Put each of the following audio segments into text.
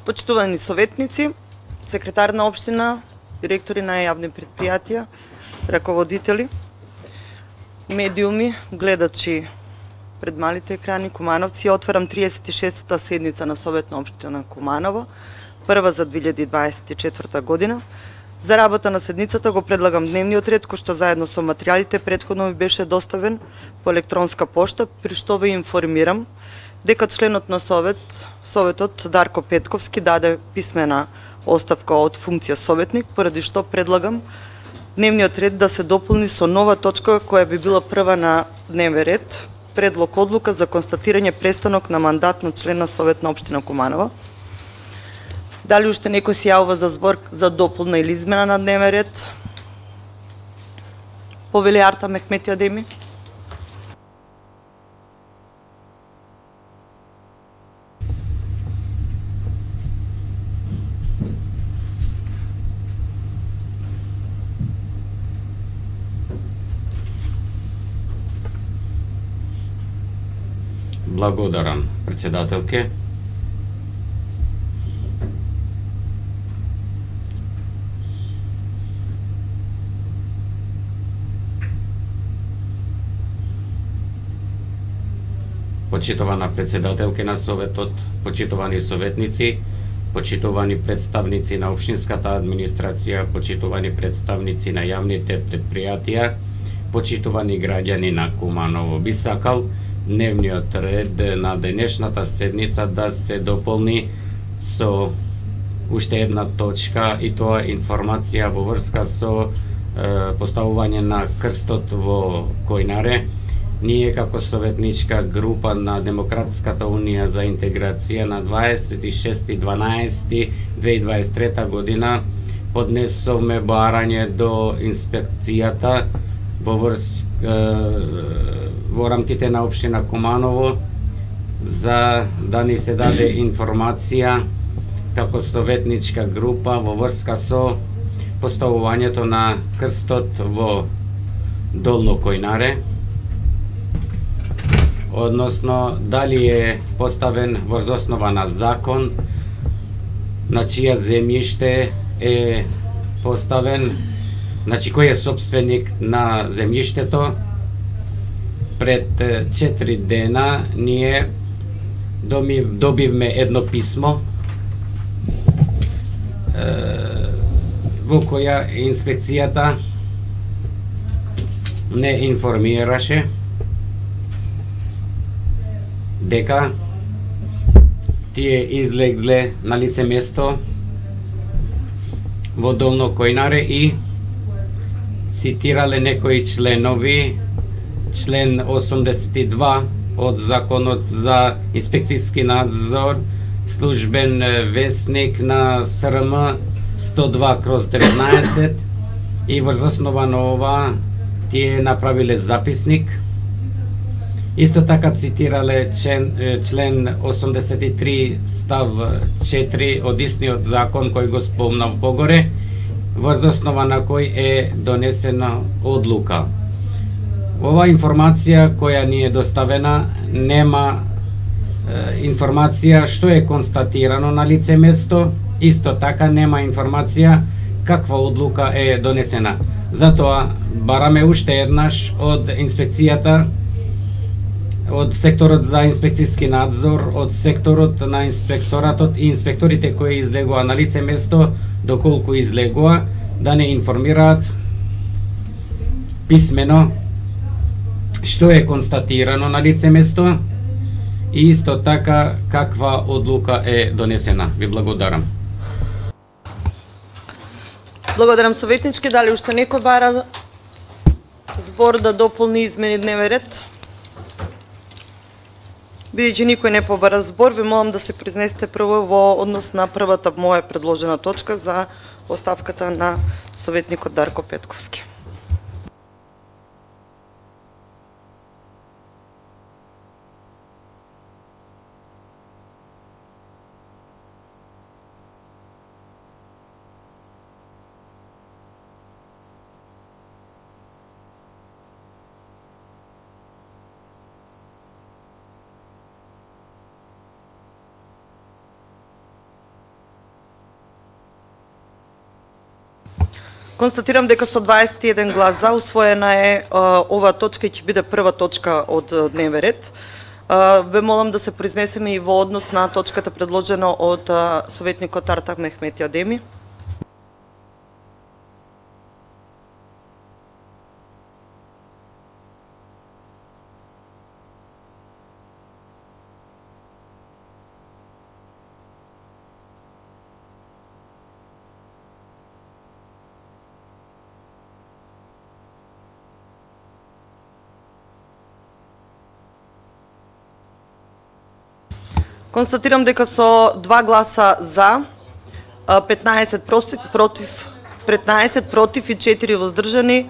Почитувани советници, секретар на општина, директори на јавни предпријатија, раководители, медиуми, гледачи пред малите екрани, кумановци, отварам 36-та седница на Совет на општина Куманово, прва за 2024 година. За работа на седницата го предлагам дневниот ред, кој што заедно со материјалите претходно ми беше доставен по електронска пошта, при што ве информирам дека членот на Советот Дарко Петковски даде писмена оставка од функција советник, поради што предлагам дневниот ред да се дополни со нова точка која би била прва на дневен ред, предлог одлука за констатирање престанок на мандат на член на Совет на општина Куманово. Дали уште некој се јавува за збор за дополна или измена на дневен ред? Повели Арта Мехмети Адеми. Благодарам, председателке. Почитувана председателке на Советот, почитувани советници, почитувани представници на општинската администрација, почитувани представници на јавните предпријатија, почитувани граѓани на Куманово, би сакал дневниот ред на денешната седница да се дополни со уште една точка, и тоа информација во врска со поставување на крстот во Којнаре. Ние како советничка група на Демократската унија за интеграција на 26.12.2023 година поднесовме барање до инспекцијата во рамките на општина Куманово за да ни се даде информација како советничка група во врска со поставувањето на крстот во Долно Којнаре, односно дали е поставен врз основа на закон, на чија земјиште е поставен, значи кој е собственик на земјиштето. Пред 4 дена ние добивме едно писмо во која инспекцијата не информираше дека тие излегле на лице место во Долно Којнаре и цитирале некои членови, член 82 од Законот за инспекцијски надзор, службен весник на СРМ 102/19, и врз основа на ова тие направиле записник. Исто така цитирале член 83 став 4 од истиот закон кој го спомнав погоре, врз основа на кој е донесена одлука. Ова информација која ни е доставена нема информација што е констатирано на лице место, исто така нема информација каква одлука е донесена. Затоа бараме уште еднаш од инспекцијата, од секторот за инспекцијски надзор, од секторот на инспекторатот и инспекторите кои излегува на лице место, доколку излегува, да не информираат писмено што е констатирано на лице место и исто така каква одлука е донесена. Ви благодарам. Благодарам советнички. Дали уште некој бара збор да дополни измени дневен ред? Бидејќи никој не побара збор, ви молам да се произнесете прво во однос на првата моја предложена точка за оставката на советникот Дарко Петковски. Констатирам дека со 21 глас за усвоена е оваа точка и ќе биде прва точка од дневен ред. Ве молам да се произнесеме и во однос на точката предложена од советникот Артак Мехмети Адеми. Констатирам дека со 2 гласа за, 15 против и 4 воздржани,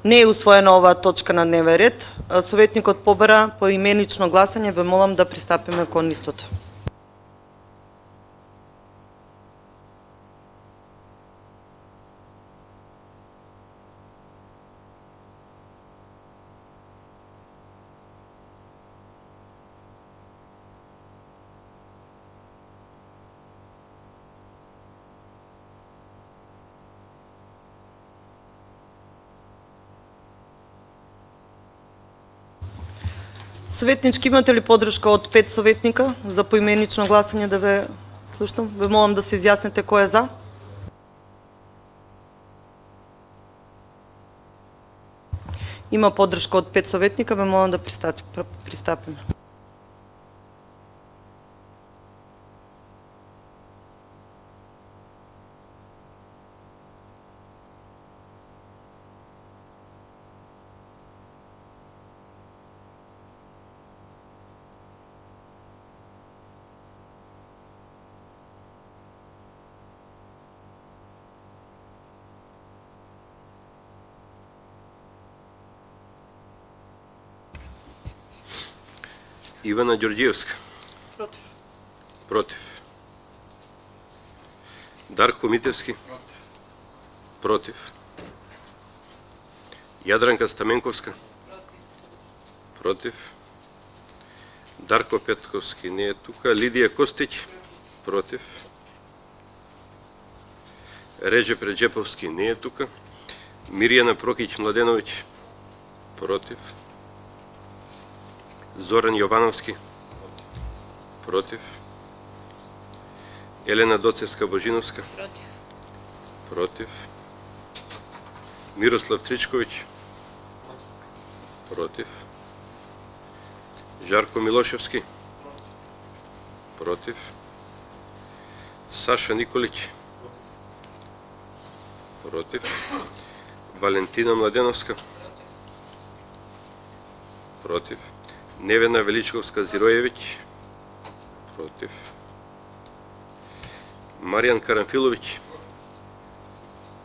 не е усвоена оваа точка на дневен ред. Советникот побара поименично гласање, ве молам да пристапиме кон истото. Советнички, имате ли подршка од 5 советника за поименично гласање да ве слушнам? Ве молам да се изјасните кој е за. Има подршка од 5 советника, ве молам да пристапиме. Ивана Ѓорѓиевска. Против. Против. Дарко Митевски. Против. Јадранка Стаменковска. Против. Дарко Петковски не е тука. Лидија Костиќ. Против. Реджеп Реджеповски не е тука. Мирјана Прокиќ Младеновиќ. Против. Зоран Јовановски. Против. Елена Доцевска Божиновска. Против. Против. Мирослав Тричковиќ. Против. Жарко Милошевски. Против. Саша Николиќ. Против. Валентина Младеновска. Против. Невена Величковска Зиројевиќ. Против. Маријан Карамфиловиќ.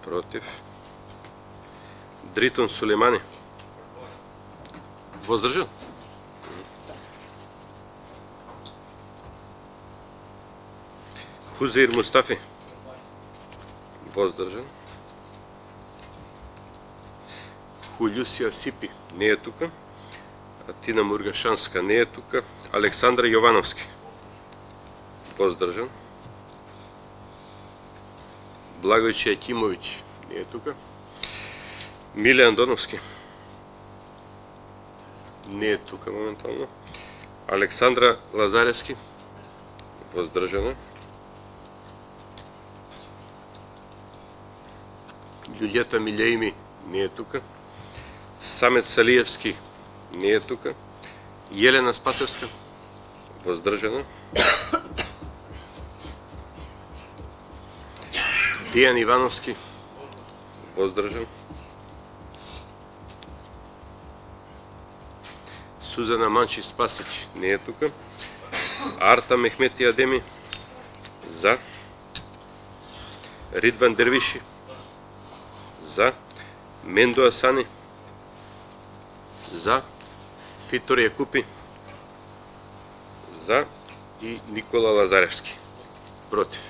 Против. Дритон Сулеймани. Воздржан? Хузеир Мустафи. Воздржан. Хулјусија Сипи не е тука. Атина Мургашанска не е тука. Александра Јовановски. Воздржан. Благојче Екимовиќ не е тука. Миле Андоновски не е тука моментално. Александра Лазаревски. Воздржана. Љуѓета Милеими не е тука. Самет Салиевски не е тука. Јелена Спасевска. Воздржана. Дијан Ивановски. Воздржан. Сузана Манчи Спасиќ не е тука. Арта Мехмети Адеми. За. Ридван Дервиши. За. Мендо Асани. За. Фитор Јакупи. За. И Никола Лазаревски. Против.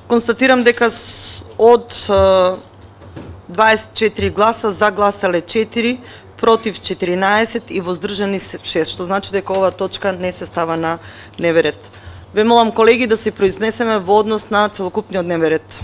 Констатирам дека од 24 гласа за гласале 4, против 14 и воздржани 6, што значи дека оваа точка не се става на дневен ред. Ве молам колеги да се произнесеме во однос на целокупниот дневен ред.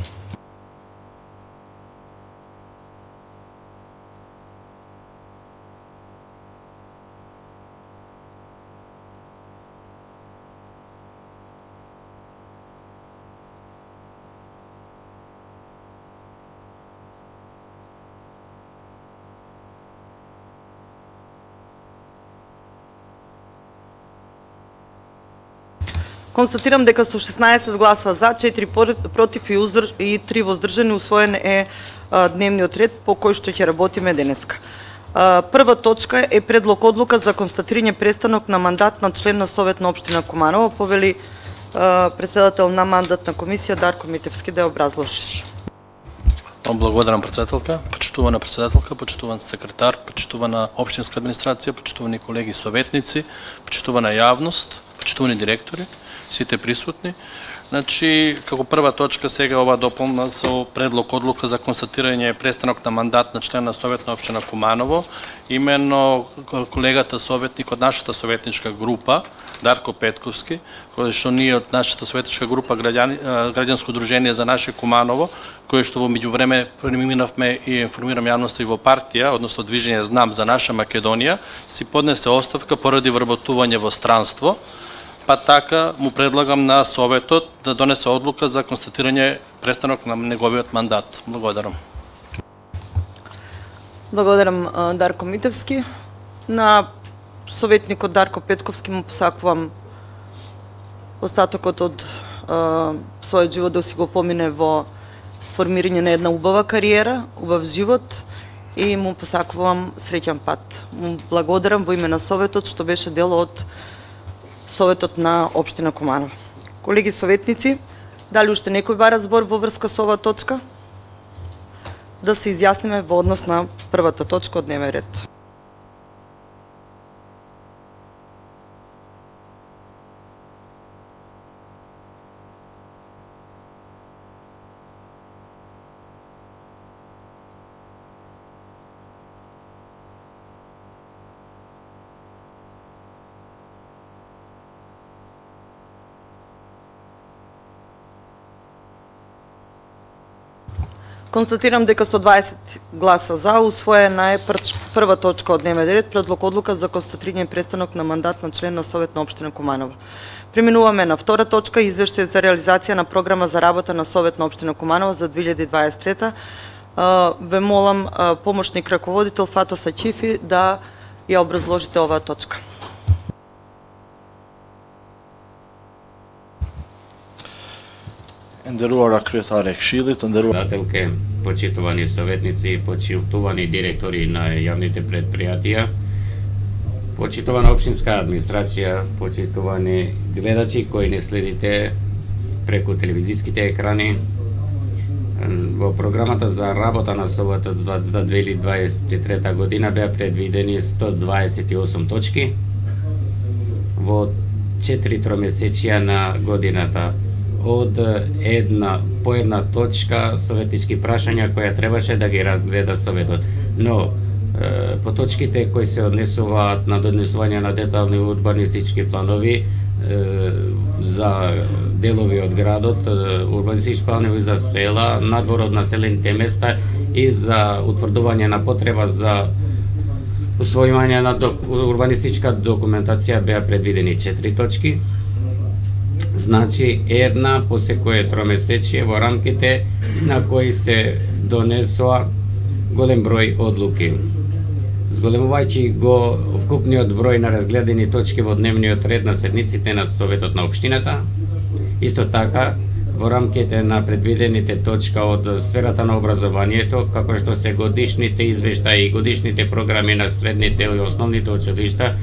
Констатирам дека со 16 гласа за, 4 против и 3 воздржани усвоен е дневниот ред по кој што ќе работиме денеска. Прва точка е предлог одлука за констатирање престанок на мандат на член на Совет на општина Куманово. Повели председател на мандатна комисија Дарко Митевски да ја образложиш. Благодарам председателка, почитувана председателка, почитуван секретар, почитувана општинска администрација, почитувани колеги советници, почитувана јавност, почитувани директори, сите присутни. Значи, како прва точка сега ова дополна со предлог одлука за констатирање престанок на мандат на член на Совет на општина Куманово. Именно колегата советник од нашата советничка група, Дарко Петковски, кој што ние од нашата советничка група Граѓанско удружение за наше Куманово, кој што во меѓувреме преминавме и информирам јавноста и во партија, односно движење Знам за наша Македонија, си поднесе оставка поради вработување во странство. Па така му предлагам на Советот да донесе одлука за констатирање престанок на неговиот мандат. Благодарам. Благодарам Дарко Митевски. На советникот Дарко Петковски му посакувам остатокот од својот живот да си го помине во формирање на една убава кариера, убав живот и му посакувам среќен пат. Му благодарам во име на Советот што беше дел од Советот на општина Куманово. Колеги советници, дали уште некој бара збор во врска со оваа точка? Да се изјасниме во однос на првата точка од дневен ред. Констатирам дека со 20 гласа за усвоена е прва точка од дневен ред, предлог одлука за констатирање престанок на мандат на член на Совет на општина Куманово. Преминуваме на втора точка, извештај за реализација на програма за работа на Совет на општина Куманово за 2023. Ве молам помошник раководител Фато Сачифи да ја образложите оваа точка. Нderruara kryetare e Këshillit, Председателке, почитувани советници, почитувани директори на јавните предпријатија, почитувана општинска администрација, почитувани гледачи кои не следите преку телевизиските екрани. Во програмата за работа на Советот за 2023 година беа предвидени 128 точки во 4 тромесечија на годината. Од по една точка советнички прашања која требаше да ги разгледа Советот. Но по точките кои се однесуваат на донесување на детални урбанистички планови за делови од градот, урбанистички планови за села, надвор од населените места и за утврдување на потреба за усвојување на урбанистичка документација беа предвидени 4 точки. Значи една по секое тромесечие во рамките на кои се донесоа голем број одлуки. Зголемувајќи го вкупниот број на разгледани точки во дневниот ред на седниците на Советот на општината, исто така во рамките на предвидените точка од сферата на образованието, како што се годишните извештаи и годишните програми на средните и основните училишта,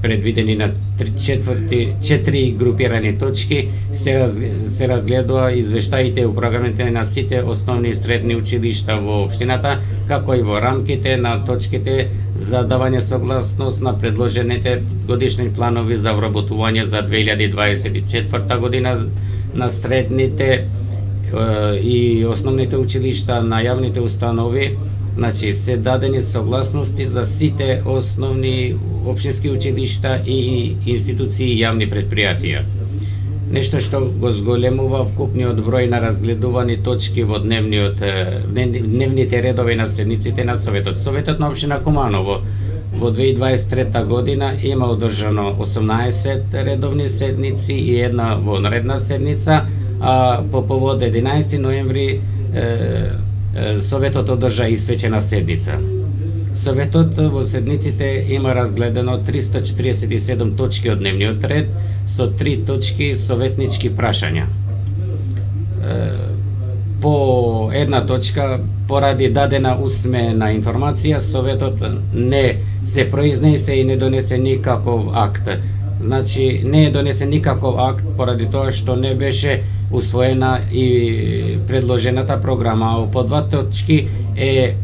предвидени на 4 групирани точки, се разгледува извештаите и програмите на сите основни и средни училишта во општината, како и во рамките на точките за давање согласност на предложените годишни планови за вработување за 2024 година на средните и основните училишта на јавните установи, значи се дадени согласности за сите основни општински училишта и институции и јавни предпријатија. Нешто што го зголемува вкупниот број на разгледувани точки во дневните редови на седниците на Советот. Советот на општина Куманово во 2023 година има одржано 18 редовни седници и една вонредна седница, а по повод 11 ноември Советот одржа и свечена седница. Советот во седниците има разгледано 347 точки од дневниот ред со 3 точки советнички прашања. По една точка, поради дадена усмена информација, Советот не се произнесе и не донесе никаков акт. Значи, не е донесен никаков акт поради тоа што не беше усвоена и предложената програма. По 2 точки е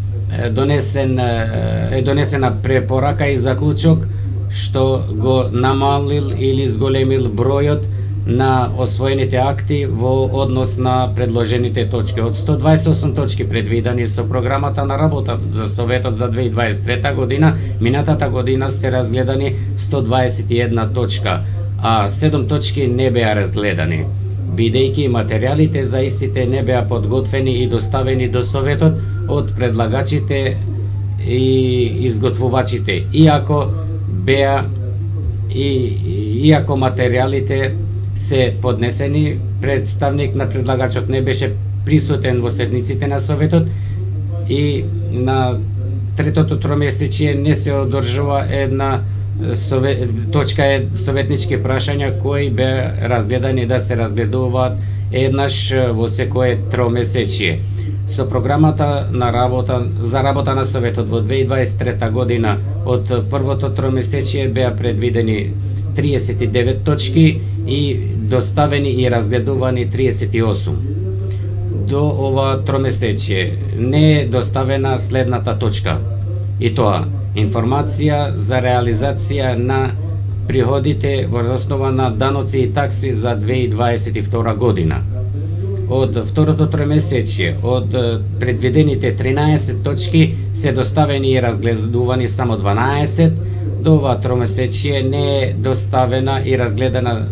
донесена препорака и заклучок што го намалил или зголемил бројот на освоените акти во однос на предложените точки. Од 128 точки предвидени со програмата на работа за Советот за 2023 година, минатата година се разгледани 121 точка, а 7 точки не беа разгледани, бидејќи материјалите за истите не беа подготвени и доставени до Советот од предлагачите и изготвувачите, иако материјалите се поднесени, представник на предлагачот не беше присутен во седниците на Советот и на третото тромесечие не се одржува една точка советнички прашања кои беа разгледани да се разгледуваат еднаш во секое тромесечие. Со програмата на за работа на Советот во 2023 година од првото тромесечие беа предвидени 39 точки и доставени и разгледувани 38. До ова тромесечие не е доставена следната точка, и тоа информација за реализација на приходите во основа на даноци и такси за 2022 година. Од второто тромесечие, од предвидените 13 точки се доставени и разгледувани само 12, до ова тромесечие не е доставена и разгледана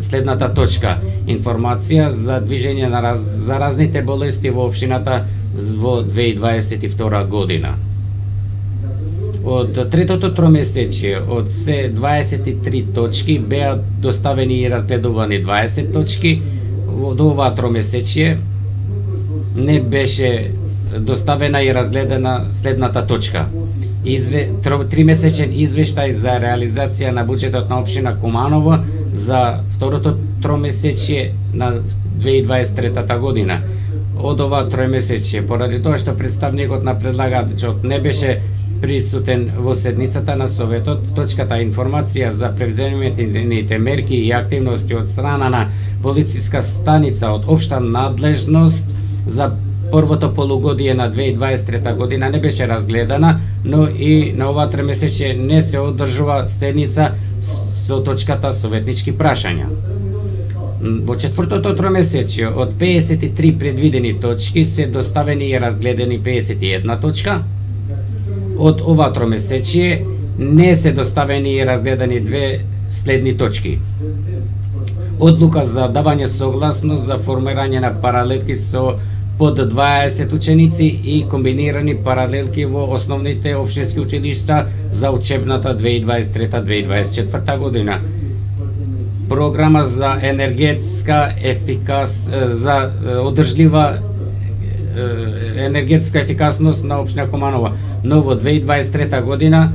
следната точка: информација за движење на заразните болести во општината во 2022 година. Од третото тромесечие, од се 23 точки, беа доставени и разгледувани 20 точки, до ова тромесечие не беше доставена и разгледана следната точка: тримесечен извештај за реализација на буџетот на општина Куманово за второто тромесечие на 2023 година. Од ова тромесечие, поради тоа што представникот на предлагачот не беше присутен во седницата на Советот, точката информација за превземените мерки и активности од страна на полициска станица од општа надлежност за првото полугодие на 2023 година не беше разгледана, но и на ова тримесечие не се одржува седница со точката советнички прашања. Во четвртото тромесечие од 53 предвидени точки се доставени и разгледани 51 точка. Од ова тромесечие не се доставени и разгледани две следни точки: одлука за давање согласност за формирање на паралелки со под 20 ученици и комбинирани паралелки во основните општински училишта за учебната 2023-2024 година. Програма за за одржлива енергетска ефикасност на општина Куманово. Но во 2023 година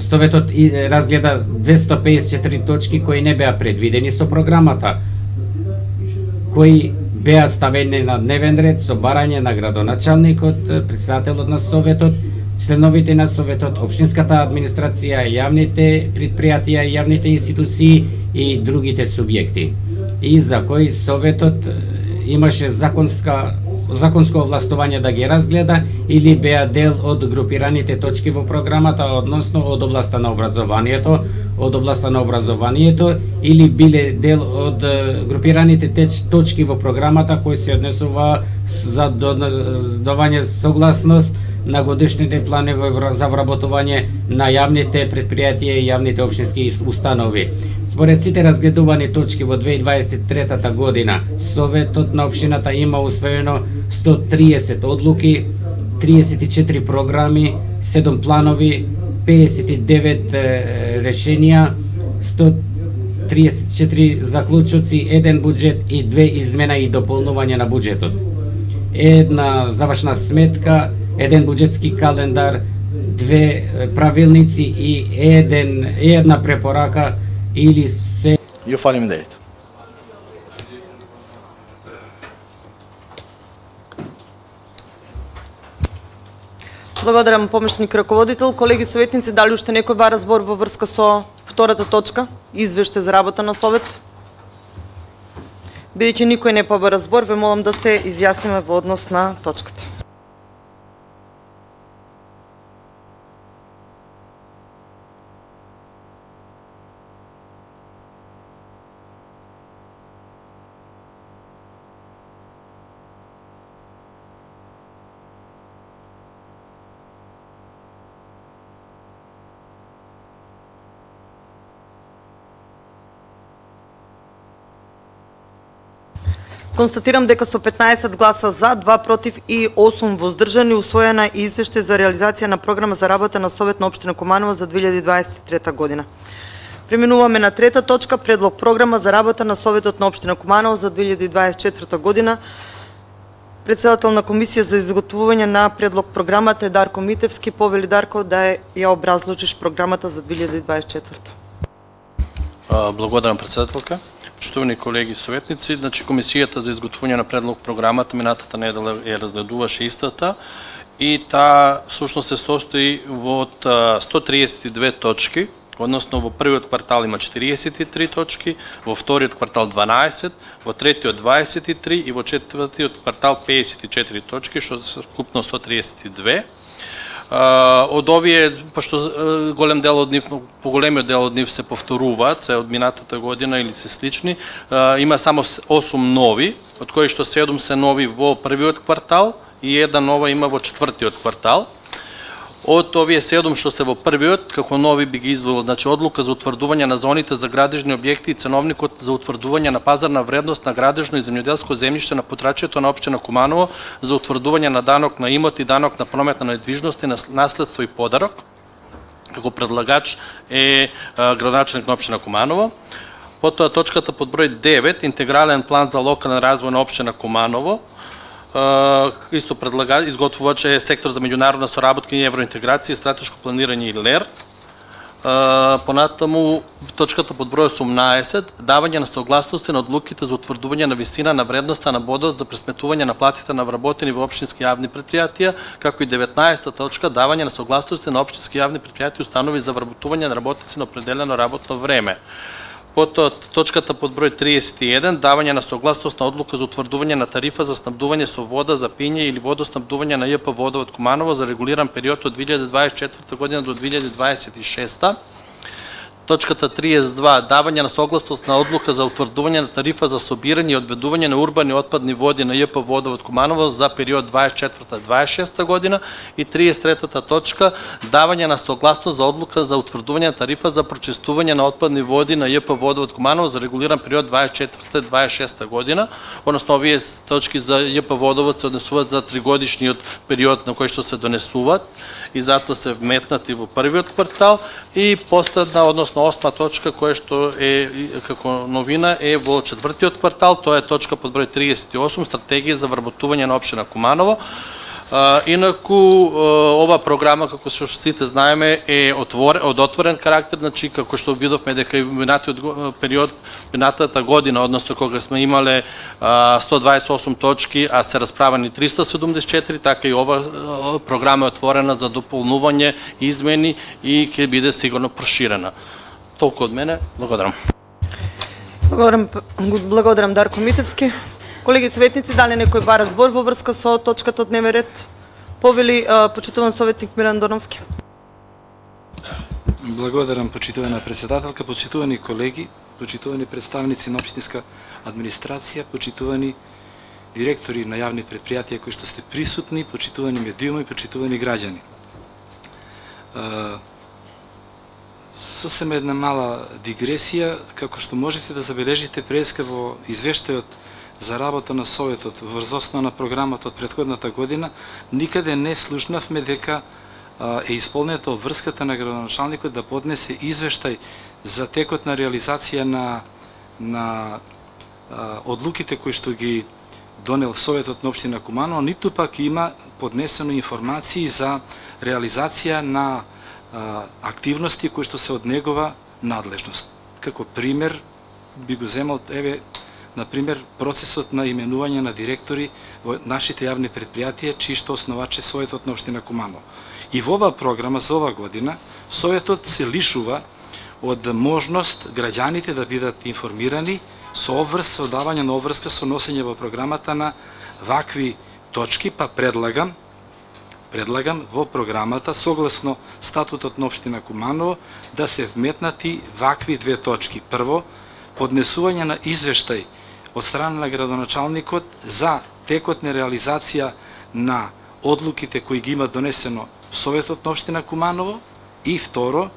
Советот разгледа 254 точки кои не беа предвидени со програмата, кои беа ставени на дневен ред со барање на градоначалникот, председателот на Советот, членовите на Советот, општинската администрација, јавните предпријатија, јавните институции и другите субјекти, и за кои Советот имаше законско овластување да ги разгледа или беа дел од групираните точки во програмата, односно од областа на образованието, од областа на образованието или биле дел од групираните точки во програмата кои се однесува за давање согласност на годишните планови за вработување на јавните предпријатија и јавните општински установи. Според сите разгледувани точки во 2023 година, Советот на општината има усвоено 130 одлуки, 34 програми, 7 планови, 59 решенија, 134 заклучоци, 1 буџет и 2 измена и дополнување на буџетот. Една завршна сметка, 1 буџетски календар, 2 правилници и една препорака или се... Ја фалим идеите. Благодарам, помошник раководител. Колеги советници, дали уште некој бара збор во врска со втората точка, извеште за работа на Совет? Бидејќи никој не побара збор, ве молам да се изјасниме во однос на точката. Констатирам дека со 15 гласа за, 2 против и 8 воздржани усвоена и извештај за реализација на програма за работа на Совет на општина Куманово за 2023 година. Преминуваме на трета точка, предлог програма за работа на Советот на општина Куманово за 2024 година. Председател на комисија за изготвување на предлог програмата е Дарко Митевски. Повели Дарко да ја образложиш програмата за 2024. Благодарам, председателка. Почитувани колеги советници, значи комисијата за изготвување на предлог програмата минатата недела ја разгледуваше истата и таа всушност се состои од 132 точки, односно во првиот квартал има 43 точки, во вториот квартал 12, во третиот 23 и во четвртиот квартал 54 точки, што се вкупно 132. Од овие, пошто поголемиот дел од нив се повторуваат, се од минатата година или се слични, има само 8 нови, од кои што 7 се нови во првиот квартал и една нова има во четвртиот квартал. Од овие 7 што се во првиот, како нови би ги извел, значи одлука за утврдување на зоните за градежни објекти и ценовникот за утврдување на пазарна вредност на градежно и земјоделско земјиште на потрачјето на општина Куманово за утврдување на данок на имот и данок на промет на недвижности, на наследство и подарок. Како предлагач е градоначелник на општина Куманово. Потоа точката под број 9, интегрален план за локален развој на општина Куманово. Исто изготвувач е сектор за меѓународна соработка и евроинтеграција, стратешко планирање и ЛЕР. Понатаму точката под број 18, давање на согласности на одлуките за утврдување на висина на вредноста на бодот за пресметување на платите на вработени во општински јавни претпријатија, како и 19-та точка, давање на согласности на општински јавни претпријатија и установи за вработување на работници на определено работно време. Потоа точката под број 31, давање на согласност на одлука за утврдување на тарифа за снабдување со вода за пиње или водоснабдување на ЈП Водовод Куманово за регулиран период од 2024 година до 2026. Точката 32, давање на согласност на одлука за утврдување на тарифа за собирање и одведување на урбани отпадни води на ЈП Водовод Куманово за период 24-26 година. И 33-та точка, давање на согласност за одлука за утврдување на тарифа за прочистување на отпадни води на ЈП Водовод Куманово за регулиран период 24-26 година. Односно, овие точки за ЈП Водовод се однесуваат за 3-годишниот период на кој што се донесуваат и затоа се вметнати во првиот квартал. И последна, односно 8-та точка, која што е како новина е во четвртиот квартал, тоа е точка под број 38, стратегија за вработување на општина Куманово. Инаку, ова програма, како што сите знаеме, е од отворен карактер, значи, како што видовме дека и минатиот период, минатата година, односно кога сме имале 128 точки, а се расправени 374, така и ова програма е отворена за дополнување, измени и ќе биде сигурно проширена. Толку од мене, благодарам. Благодарам Дарко Митевски. Колеги советници, дали некој бара збор во врска со точката од дневен ред? Повели почитуван советник Милан Доновски. Благодарам, почитувана председателка, почитувани колеги, почитувани представници на општинска администрација, почитувани директори на јавни предпријатија кои што сте присутни, почитувани медиуми, почитувани граѓани. Сосема една мала дигресија, како што можете да забележите преска во извештајот за работа на Советот врз основа на програмата од претходната година, никаде не слушнавме дека е исполнета обврската на градоначалникот да поднесе извештај за текот на реализација на одлуките кои што ги донел Советот на општина Куманово, ниту пак има поднесено информации за реализација на активности кои што се од негова надлежност. Како пример би го земал, на пример, процесот на именување на директори во нашите јавни предпријатија, чии што основач е Советот на општина Куманово. И во оваа програма за ова година Советот се лишува од можност граѓаните да бидат информирани со давање на обврска со носење во програмата на вакви точки, па предлагам во програмата, согласно статутот на општина Куманово, да се вметнати вакви две точки. Прво, поднесување на извештај од страна на градоначалникот за текот на реализација на одлуките кои ги има донесено Советот на општина Куманово, и второ,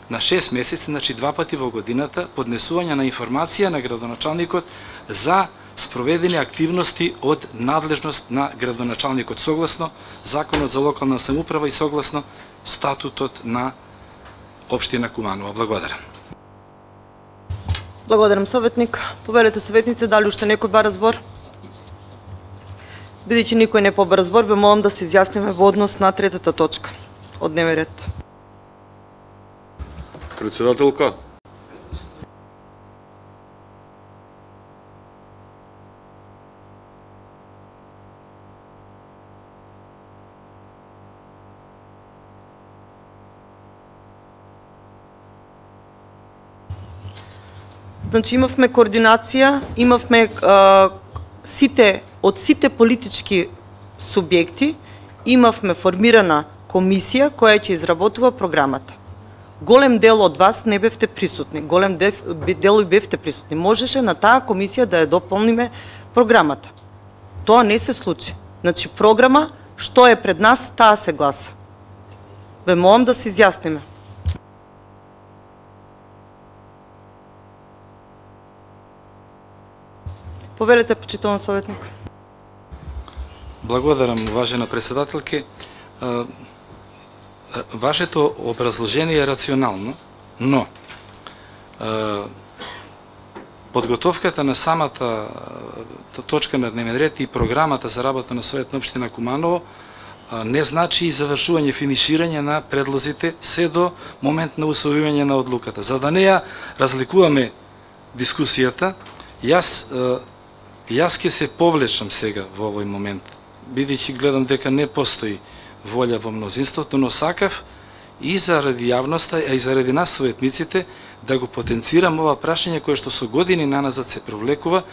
на 6 месеци, значи 2 пати во годината, поднесување на информација на градоначалникот за спроведени активности од надлежност на градоначалникот согласно Законот за локална самоуправа и согласно статутот на општина Куманово. Благодарам. Благодарам, советник. Повелете советници, дали уште некој бара збор? Бидејќи никој не побара збор, ве молам да се изјасниме во однос на третата точка од дневен ред. Председателка. Значи имавме координација, имавме од сите политички субјекти, имавме формирана комисија која ќе изработува програмата. Голем дел од вас не бевте присутни, голем дел и бевте присутни. Можеше на таа комисија да ја дополниме програмата. Тоа не се случи. Значи програма, што е пред нас, таа се гласа. Ве молам да се изјасниме. Повелете, почитуван советник. Благодарам, уважена председателке. Вашето образложение е рационално, но подготовката на самата точка на дневен ред и програмата за работа на Совет на општина Куманово не значи и завршување, финиширање на предлозите се до момент на усвојување на одлуката. За да не ја разликуваме дискусијата, јас ќе се повлечам сега во овој момент, бидејќи гледам дека не постои волја во мнозинството, но сакав и заради јавноста, а и заради нас советниците да го потенцирам ова прашање кое што со години наназад се провлекува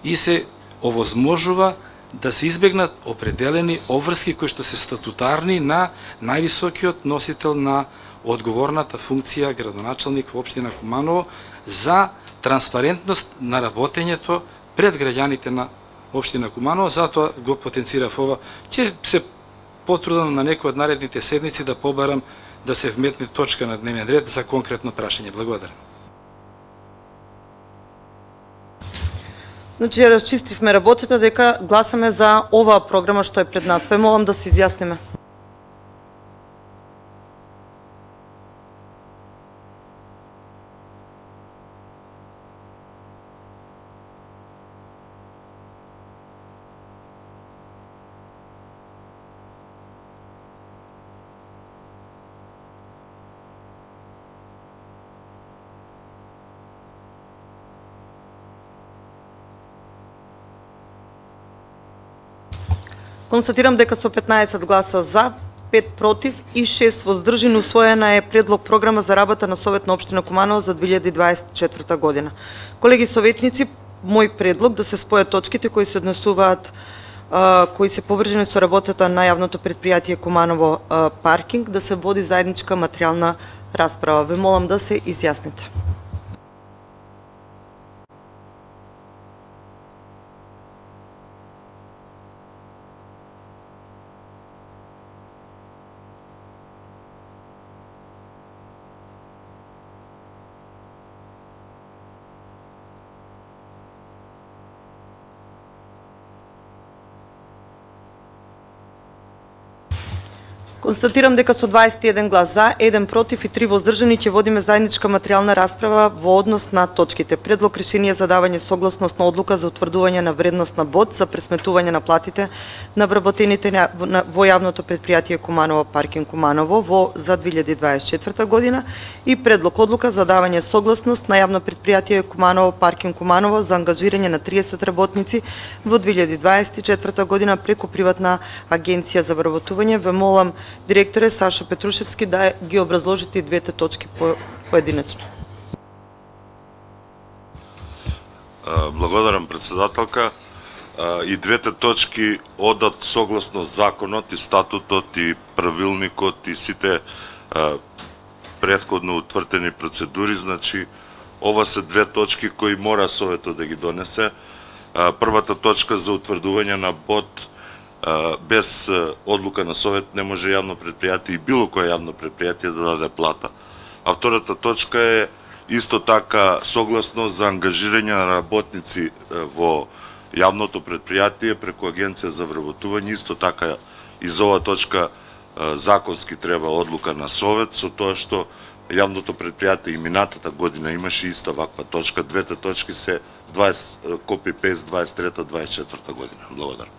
и се овозможува да се избегнат определени обврски кои што се статутарни на највисокиот носител на одговорната функција градоначалник во општина Куманово за транспарентност на работењето пред граѓаните на општина Куманово, затоа го потенцирав ова. Ќе се потрудам на некој од наредните седници да побарам да се вметне точка на дневен ред за конкретно прашање. Благодарам. Значи, ја расчистивме работата дека гласаме за оваа програма што е пред нас. Ве молам да се изјасниме. Констатирам дека со 15 гласа за, 5 против и 6 воздржани усвоена е предлог програма за работа на Совет на општина Куманово за 2024 година. Колеги советници, мој предлог да се спојат точките кои се однесуваат кои се поврзани со работата на јавното предпријатие Куманово паркинг, да се води заедничка материјална расправа. Ве молам да се изјасните. Констатирам дека со 21 глас за, 1 против и 3 воздржани ќе водиме заедничка материјална расправа во однос на точките. Предлог решение за давање согласност на одлука за утврдување на вредност на бод за пресметување на платите на вработените во јавното предпријатие Куманово паркинг Куманово за 2024 година и предлог одлука за давање согласност на јавно предпријатие Куманово паркинг Куманово за ангажирање на 30 работници во 2024 година преку приватна агенција за вработување. Ве молам, директоре Сашо Петрушевски, да ги образложите и двете точки поединечно. Благодарам, председателка. И двете точки одат согласно законот и статутот и правилникот и сите претходно утврдени процедури. Значи, ова се две точки кои мора Советот да ги донесе. Првата точка за утврдување на бод без одлука на Совет не може јавно предпријатие и било кое јавно предпријатие да даде плата. А втората точка е исто така согласно за ангажирање на работници во јавното предпријатие преку агенција за вработување. Исто така и за оваа точка законски треба одлука на Совет, со тоа што јавното предпријатие и минатата година имаше иста ваква точка. Двете точки се копи-пейст 23-24 година. Благодарам.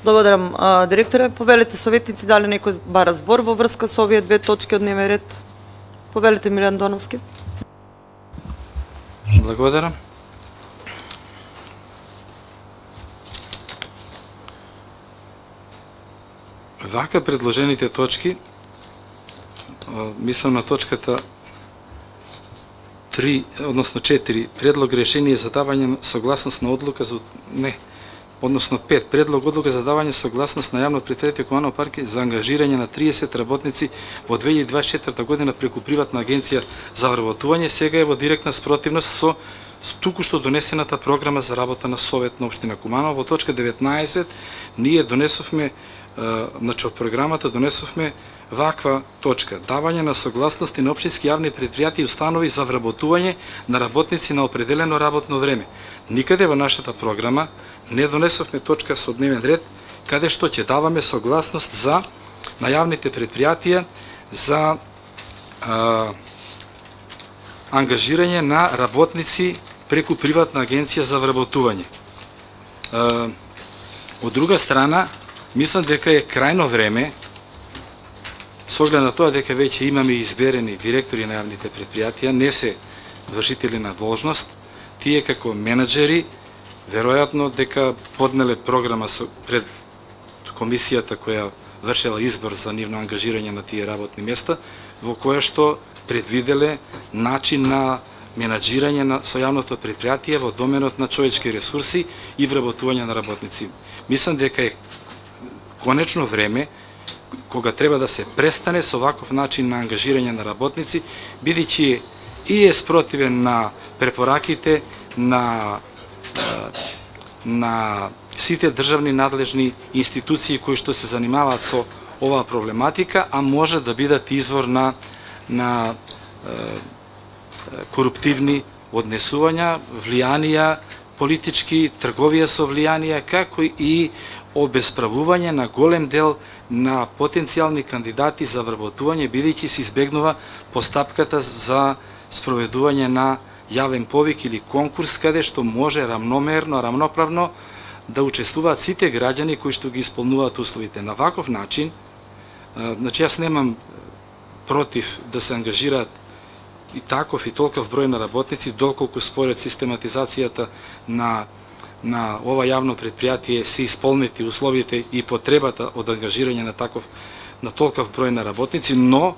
Благодарам, директоре. Повелете советници, дали некој бара збор во врска со овие две точки од дневен ред? Повелете, Милјан Доновски. Благодарам. Вака предложените точки, мислам на точката 3, односно 4, предлог решение за давање согласност на одлука за... односно 5, предлог одлука за давање согласност на јавно предпријатие Куманово паркинг за ангажирање на 30 работници во 2024 година преку приватна агенција за вработување, сега е во директна спротивност со туку-што донесената програма за работа на Совет на општина Куманово. Во точка 19 ние донесовме, значи од програмата донесовме ваква точка: давање на согласности на општински јавни предпријатија и установи за вработување на работници на определено работно време. Никаде во нашата програма не донесовме точка со дневен ред каде што ќе даваме согласност за на јавните предпријатија за ангажирање на работници преку приватна агенција за вработување. Од друга страна, мислам дека е крајно време, со оглед на тоа дека веќе имаме изберени директори на јавните предпријатија, не се вршители на должност, тие како менаџери, веројатно дека поднеле програма пред комисијата која вршела избор за нивно ангажирање на тие работни места, во која што предвиделе начин на менаџирање со јавното предпријатие во доменот на човечки ресурси и вработување на работници. Мислам дека е конечно време кога треба да се престане со ваков начин на ангажирање на работници, бидејќи и е спротивен на препораките на сите државни надлежни институции кои што се занимаваат со оваа проблематика, а може да бидат извор на коруптивни однесувања, влијанија, политички, трговија со влијанија, како и обесправување на голем дел на потенцијални кандидати за вработување, бидејќи се избегнува постапката за спроведување на јавен повик или конкурс, каде што може рамномерно, рамноправно да учествуваат сите граѓани кои што ги исполнуваат условите. На ваков начин, значи јас немам против да се ангажираат и таков и толков број на работници, доколку според систематизацијата на ова јавно предпријатие се исполнети условите и потребата од ангажирање на толков број на работници, но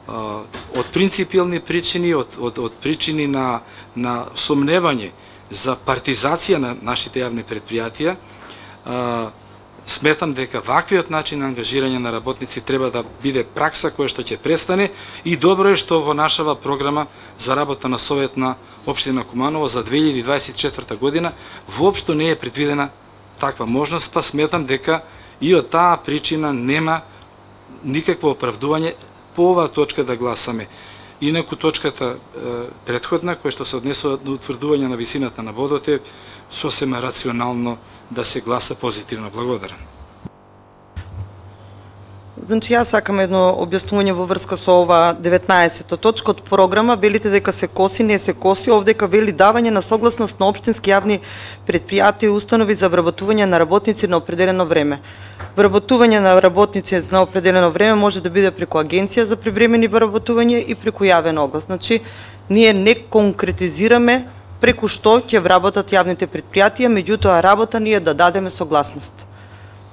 од принципиални причини, од причини на сомневање за партизација на нашите јавни предпријатија, Сметам дека ваквиот начин на ангажирање на работници треба да биде пракса која што ќе престане и добро е што во нашава програма за работа на Совет на Општина Куманово за 2024 година воопшто не е предвидена таква можност, па сметам дека и од таа причина нема никакво оправдување по оваа точка да гласаме. Инаку точката претходна, која што се однесува до утврдување на висината на бодот е сосема рационално да се гласа позитивно. Благодарам. Значи, јас сакам едно објаснување во врска со ова 19-та точка од програма. Велите дека се коси, не се коси. Овдека вели давање на согласност на општински јавни предпријатија и установи за вработување на работници на определено време. Вработување на работници на определено време може да биде преку агенција за привремени вработување и преку јавен оглас. Значи, ние не конкретизираме преку што ќе вработат јавните предпријатија, меѓутоа работа ни е да дадеме согласност.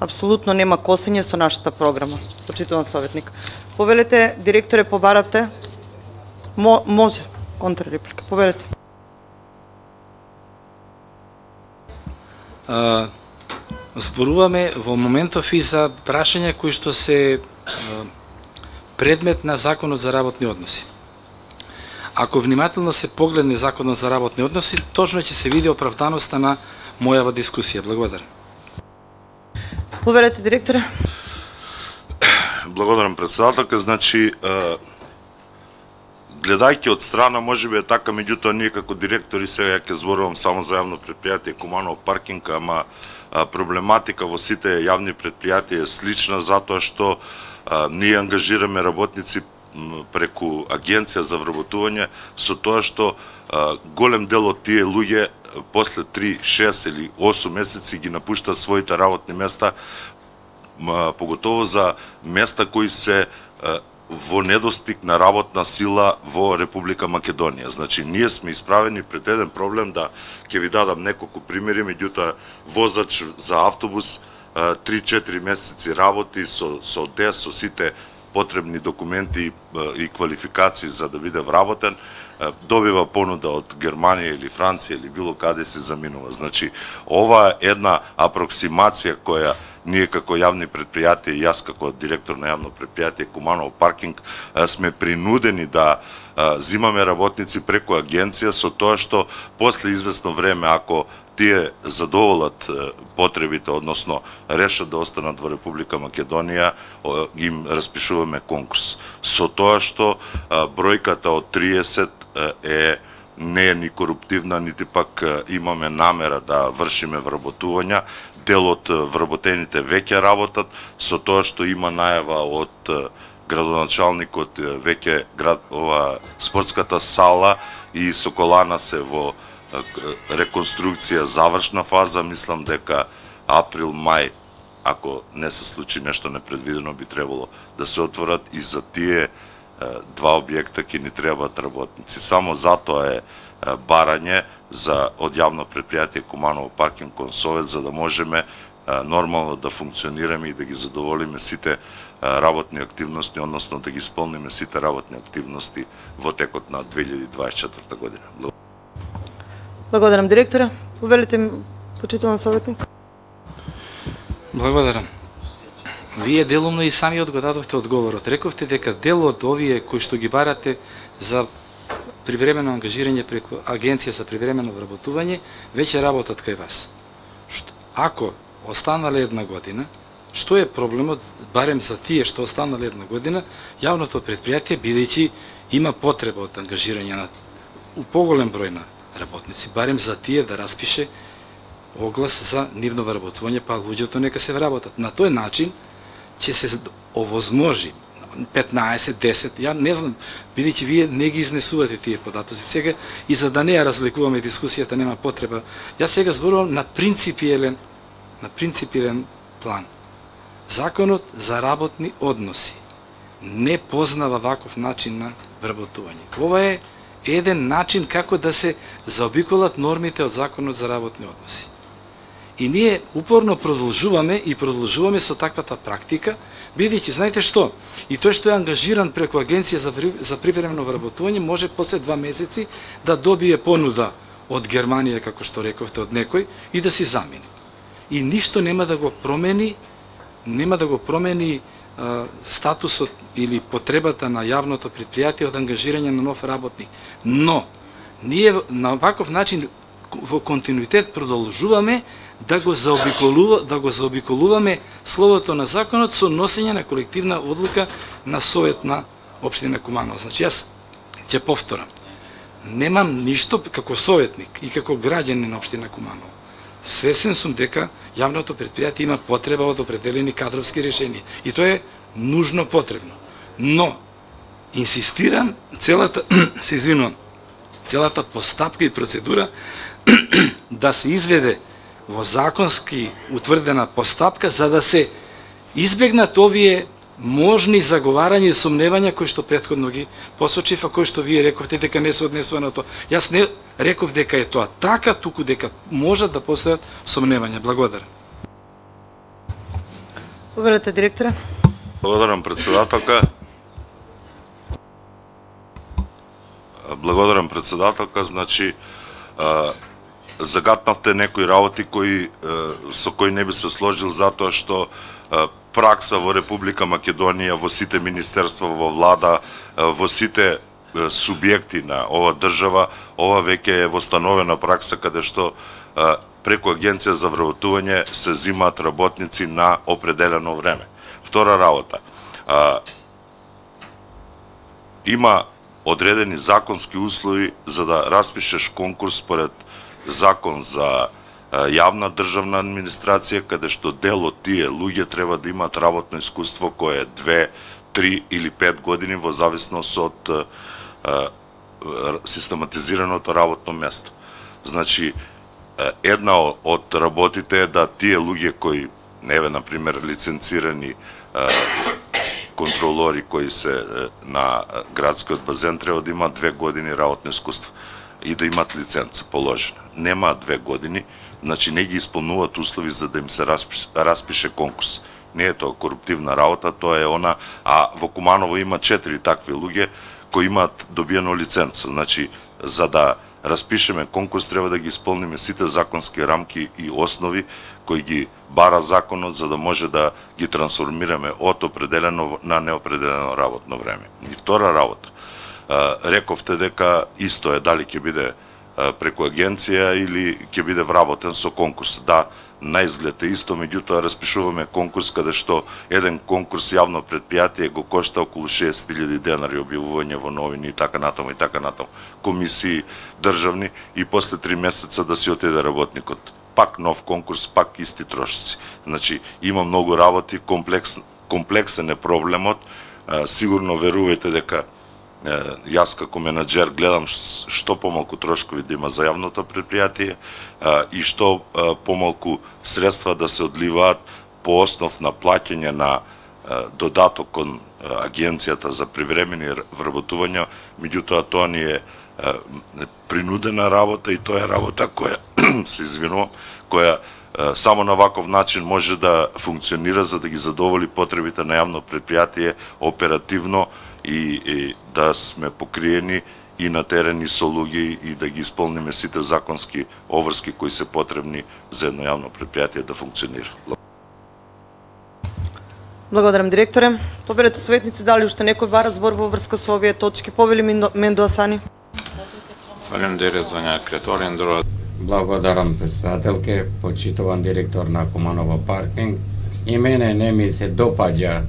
Апсолутно нема косење со нашата програма, почитуван советник. Повелете, директоре, побаравте? Може, контрреплика, повелете. Зборуваме во моментов и за прашања кои што се предмет на Законот за работни односи. Ако внимателно се погледне Законот за работни односи, точно ќе се види оправданоста на мојава дискусија. Благодарам. Повелете, директоре. Благодарам, председателка. Значи, гледајќи од страна, можеби е така, меѓутоа ние како директори сега ќе зборувам само за јавно предпријатие Куманово паркинг, ама проблематика во сите јавни предпријатија е слична затоа што ние ангажираме работници преку агенција за вработување со тоа што голем дел од тие луѓе после 3, 6 или 8 месеци ги напуштат своите работни места, поготово за места кои се во недостиг на работна сила во Република Македонија. Значи, ние сме исправени пред еден проблем, да ќе ви дадам неколку примери, меѓутоа возач за автобус 3-4 месеци работи со ДЕС, со сите потребни документи и квалификации за да биде вработен, добива понуда од Германија или Франција или било каде се заминува. Значи, ова е една апроксимација која ние како јавни предпријатија и јас како директор на јавно предпријатие Куманово паркинг сме принудени да зимаме работници преку агенција со тоа што после известно време, ако тие задоволат потребите, односно решат да останат во Република Македонија, им распишуваме конкурс. Со тоа што бројката од 30 не е ни коруптивна, нити пак имаме намера да вршиме вработувања. Дел од вработените веќе работат, со тоа што има најава од градоначалникот веќе спортската сала и Соколана се во реконструкција завршна фаза. Мислам дека април, мај, ако не се случи нешто непредвидено, би требало да се отворат и за тие два објекта ќе ни требаат работници. Само затоа е барање од јавно предпријатие Куманово паркинг кон Совет, за да можеме нормално да функционираме и да ги задоволиме сите работни активности, односно да ги исполниме сите работни активности во текот на 2024 година. Благодарам, директоре. Повелите, почитуван советник. Благодарам. Вие делумно и сами го дадовте одговорот. Рековте дека дел од овие кои што ги барате за привремено ангажирање преку агенција за привремено вработување веќе работат кај вас. Ако останале една година, што е проблемот барем за тие што останале една година, јавното предпријатие бидејќи има потреба од ангажирање на поголем број на работници, барем за тие да распише оглас за нивно вработување, па луѓето нека се вработат. На тој начин ќе се овозможи 15, 10, ја не знам, бидејќи вие не ги изнесувате тие податоци сега и за да не ја развлекуваме дискусијата нема потреба. Јас сега зборувам на принципиелен план. Законот за работни односи не познава ваков начин на вработување. Ова е еден начин како да се заобиколат нормите од Законот за работни односи. И ние упорно продолжуваме со таквата практика, бидејќи знаете што, и тој што е ангажиран преку агенција за привремено вработување може после 2 месеци да добие понуда од Германија, како што рековте, од некој и да си замени. и ништо нема да го промени статусот или потребата на јавното предпријатие од ангажирање на нов работник. Но ние на ваков начин во континуитет продолжуваме да го заобиколуваме словото на законот со носење на колективна одлука на Совет на општина Куманово. Значи јас ќе повторам. Немам ништо како советник и како граѓанин на општина Куманово. Свесен сум дека јавното предпријатие има потреба од определени кадровски решенија и тоа е нужно потребно. Но инсистирам целата постапка и процедура да се изведе во законски утврдена постапка за да се избегнат овие можни заговарања и сомневања кои што претходно ги посочив, а кои што вие рековте дека не се однесува на тоа. Јас не реков дека е тоа така, туку дека можат да постојат сомневања. Благодарам. Повелете, директоре. Благодарам, председателка. Значи, загатнавте некои работи со кои не би се сложил затоа што пракса во Република Македонија, во сите министерства, во влада, во сите субјекти на ова држава, ова веќе е востановена пракса каде што преку Агенција за вработување се зимаат работници на определено време. Втора работа, има одредени законски услови за да распишеш конкурс според закон за јавна државна администрација, каде што дел од тие луѓе треба да имаат работно искуство кое е 2, 3 или 5 години во зависност од систематизираното работно место. Значи, една од работите е да тие луѓе кои, например, лиценцирани контролори кои се на градскиот базен треба да имаат 2 години работно искуство и да имаат лиценца положена. Немаат 2 години, значи не ги исполнуваат услови за да им се распише конкурс. Не е тоа коруптивна работа, тоа е она, а во Куманово има 4 такви луѓе кои имаат добиено лиценца. Значи, за да распишеме конкурс треба да ги исполниме сите законски рамки и основи кои ги бара законот за да може да ги трансформираме од определено на неопределено работно време. И втора работа, рековте дека исто е дали ќе биде преку агенција или ќе биде вработен со конкурс. Да, на изглед е исто, меѓутоа распишуваме конкурс каде што еден конкурс јавно предпријатие го кошта околу 60.000 денари, објавување во новини и така натаму, комисии државни и после 3 месеца да си отиде работникот. Пак нов конкурс, пак исти трошици. Значи, има многу работи, комплексен е проблемот. Сигурно верувајте дека јас како менаџер гледам што помалку трошкови да има за јавното предпријатие и што помалку средства да се одливаат по основ на плаќање на додаток кон Агенцијата за привремени вработувања, меѓутоа тоа ни е принудена работа и тоа е работа која која само на ваков начин може да функционира за да ги задоволи потребите на јавно предпријатие оперативно и да сме покриени и на терени со луѓе и да ги исполниме сите законски обврски кои се потребни за едно јавно предпријатие да функционира. Благодарам, директоре. Повелете советници, дали уште некој бара збор во врска со овие точки? Повели Мендо Асани. Благодарам, председателке, почитуван директор на Куманово паркинг. И мене не ми се допаѓа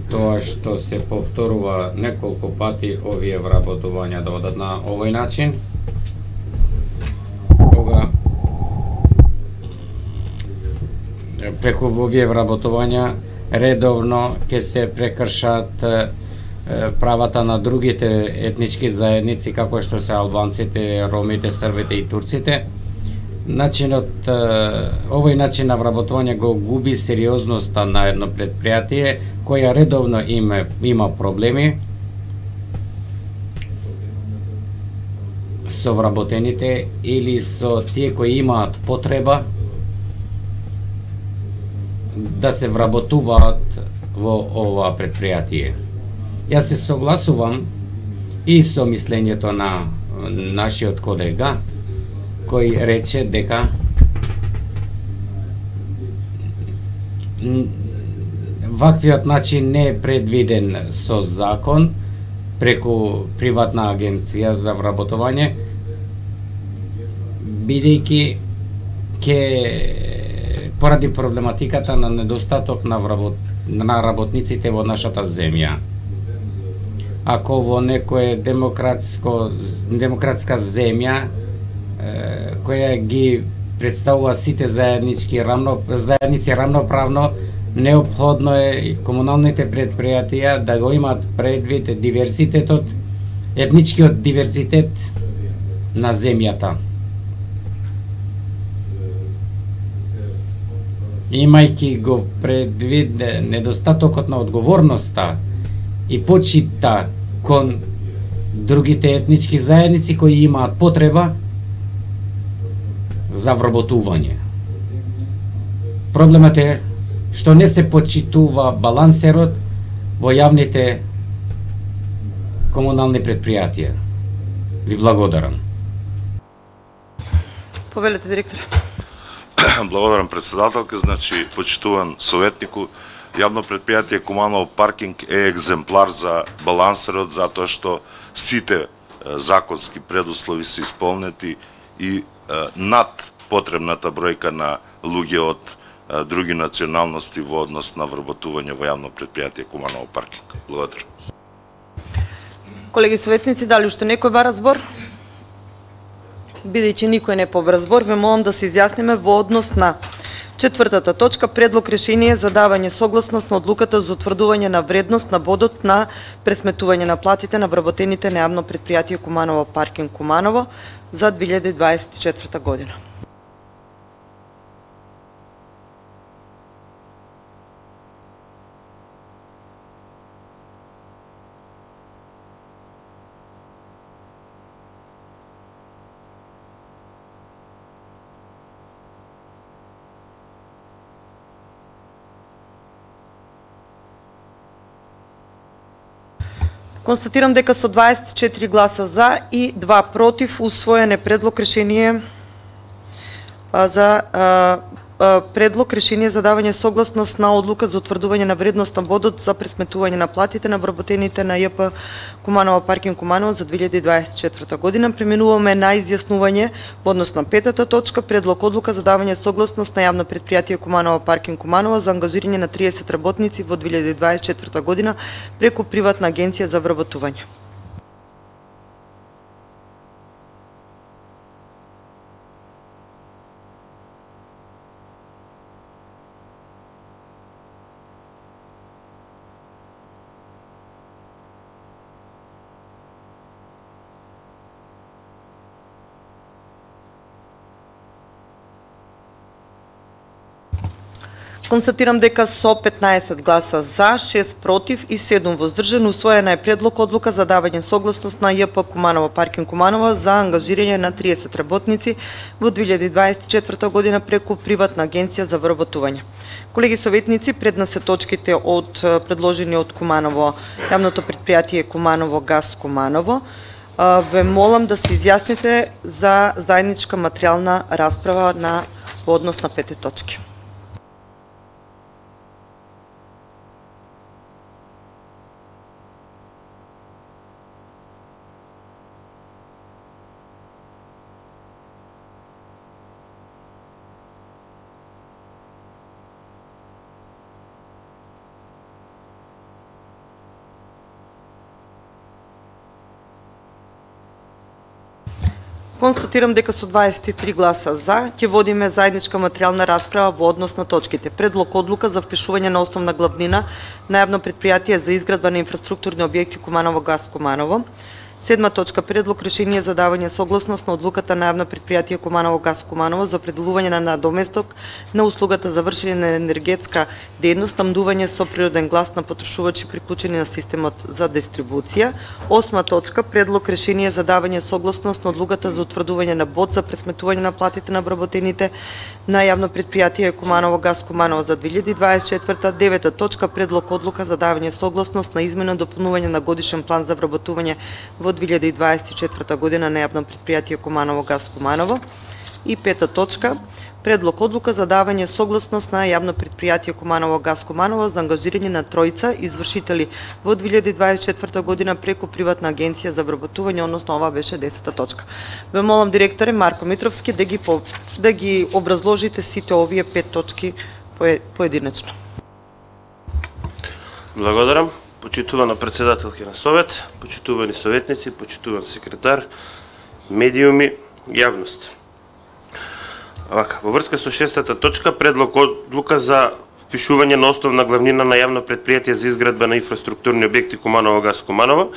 тоа што се повторува неколку пати овие вработувања да одат на овој начин. Кога преку овие вработувања редовно ќе се прекршат правата на другите етнички заедници, како што се албанците, ромите, србите и турците. Овој начин на вработување го губи сериозноста на едно предпријатие која редовно има проблеми со вработените или со тие кои имаат потреба да се вработуваат во ова предпријатие. Јас се согласувам и со мислењето на нашиот колега кој рече дека ваквиот начин не е предвиден со закон преку приватна агенција за вработување, бидејќи поради проблематиката на недостаток на работниците во нашата земја. Ако во некоја демократска земја која ги представува сите заедници рамноправно, неопходно е комуналните предпријатија да го имаат предвид диверзитетот, етничкиот диверзитет на земјата. Имајќи го предвид недостатокот на одговорноста и почита кон другите етнички заедници кои имаат потреба за вработување. Проблемот е што не се почитува балансерот во јавните комунални предпријатија. Ви благодарам. Повелете, директор. Благодарам, председателка. Значи, почитуван советнику, јавно предпријатие Куманово паркинг е екземплар за балансерот, затоа што сите законски предуслови се исполнети и над потребната бројка на луѓе од други националности во однос на вработување во јавно предпријатие Куманово паркинг. Благодарам. Колеги советници, дали уште некој бара збор? Бидејќи никој не побра збор, ве молам да се изјасниме во однос на четвртата точка, предлог решение за давање согласност на одлуката за утврдување на вредност на бодот на пресметување на платите на вработените на јавно предпријатие Куманово паркинг Куманово за 2024 година. Констатирам дека со 24 гласа за и 2 против усвоен е предлог решение за давање согласност на одлука за утврдување на вредност на бодот за пресметување на платите на вработените на ЈП Куманово паркинг Куманово за 2024 година. Преминуваме на изјаснување во однос на петата точка, предлог одлука за давање согласност на јавно предпријатие Куманово паркинг Куманово за ангажирање на 30 работници во 2024 година преку приватна агенција за вработување. Констатирам дека со 15 гласа за, 6 против и 7 воздржан усвоена е предлог одлука за давање согласност на ЈП Куманово паркинг Куманово за ангажирање на 30 работници во 2024 година преку приватна агенција за вработување. Колеги советници, пред нас се точките од предложени од Куманово, јавното предпријатие Куманово газ Куманово. Ве молам да се изјасните за заедничка материјална расправа во однос на 5 точки. Констатирам дека со 23 гласа за ќе водиме заедничка материјална расправа во однос на точките. Предлог одлука за впишување на основна главнина на јавно предпријатие за изградба на инфраструктурни објекти Куманово газ Куманово. Седма точка, предлог решение за давање согласност на одлуката на јавно предпријатие Куманово газ Куманово за определување на надоместок на услугата за вршење на енергетска дејност, снабдување со природен газ на потрошувачи приклучени на системот за дистрибуција. Осма точка, предлог решение за давање согласност на одлуката за утврдување на бод за пресметување на платите на вработените на јавно предпријатие Куманово газ Куманово за 2024. Девета точка, предлог одлука за давање согласност на измена и дополнување на годишен план за вработување во 2024 година на јавно предпријатие Куманово газ Куманово. И пета точка, Предлог одлука за давање согласност на јавно предпријатие Куманово газ Куманово за ангажирање на тројца извршители во 2024 година преку приватна агенција за вработување, односно ова беше 10-та точка. Ве молам директоре Марко Митровски да ги образложите сите овие 5 точки поединечно. Благодарам. Почитувана председателка на Совет, почитувани советници, почитуван секретар, медиуми, јавност. Во врска со 6-та точка, предлог одлука за впишување на основна главнина на јавно предпријатие за изградба на инфраструктурни објекти Куманово газ Куманово,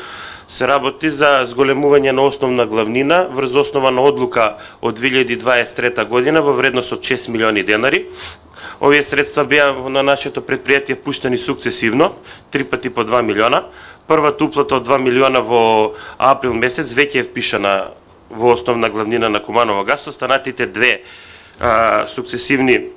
се работи за зголемување на основна главнина врз основа на одлука од 2023 година во вредност од 6 милиони денари. Овие средства беа на нашето предпријатие пуштени сукцесивно, 3 пати по 2 милиона. Првата уплата од 2 милиона во април месец веќе е впишана во основна главнина на Куманово газ. Останатите две сукцесивни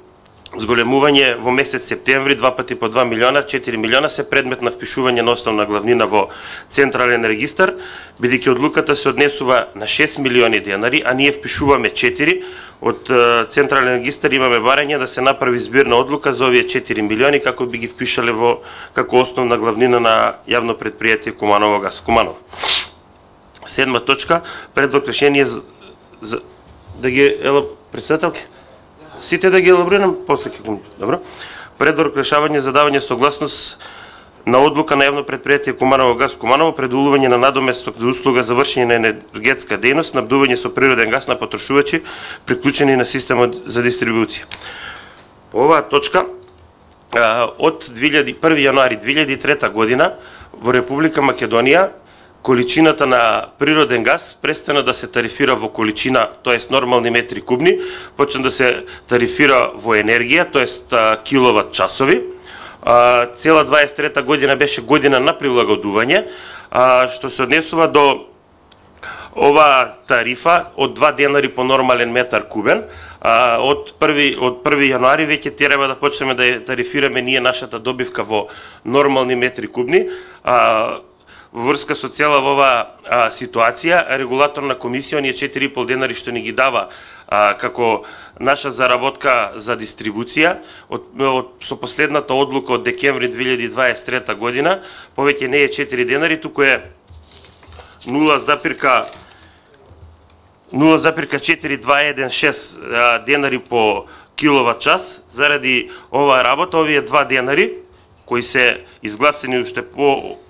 зголемување во месец септември, 2 пати по 2 милиона, 4 милиона се предмет на впишување на основна главнина во Централен регистар, бидејќи одлуката се однесува на 6 милиони денари, а ние впишуваме 4. Од Централен регистар имаме барање да се направи збирна одлука за овие 4 милиони како би ги впишале во како основна главнина на јавно предпријатие Куманово газ Куманово. 7 точка, предлог решение за да ги председателки сите да ги елаборирам, после ќе го добро. Предлог решавање за давање согласност на одлука на јавно предпријатие Куманово газ Куманово предулување на надоместок за услуга за вршење на енергетска дејност, снабдување со природен газ на потрошувачи приклучени на системот за дистрибуција. По оваа точка од 1 јануари 2003 година во Република Македонија количината на природен газ престана да се тарифира во количина, тоест нормални метри кубни, почна да се тарифира во енергија, тоест киловат часови. Цела 23 година беше година на прилагодување, што се однесува до ова тарифа од 2 денари по нормален метар кубен. Од 1 јануари веќе треба да почнеме да тарифираме ние нашата добивка во нормални метри кубни. Во врска со цела ова ситуација, регулаторна комисија, оние 4,5 денари што ни ги дава како наша заработка за дистрибуција, со последната одлука од декември 2023 година, повеќе не е 4 денари, туку е 0,4216 денари по киловат час. Заради оваа работа, овие 2 денари, кои се изгласени уште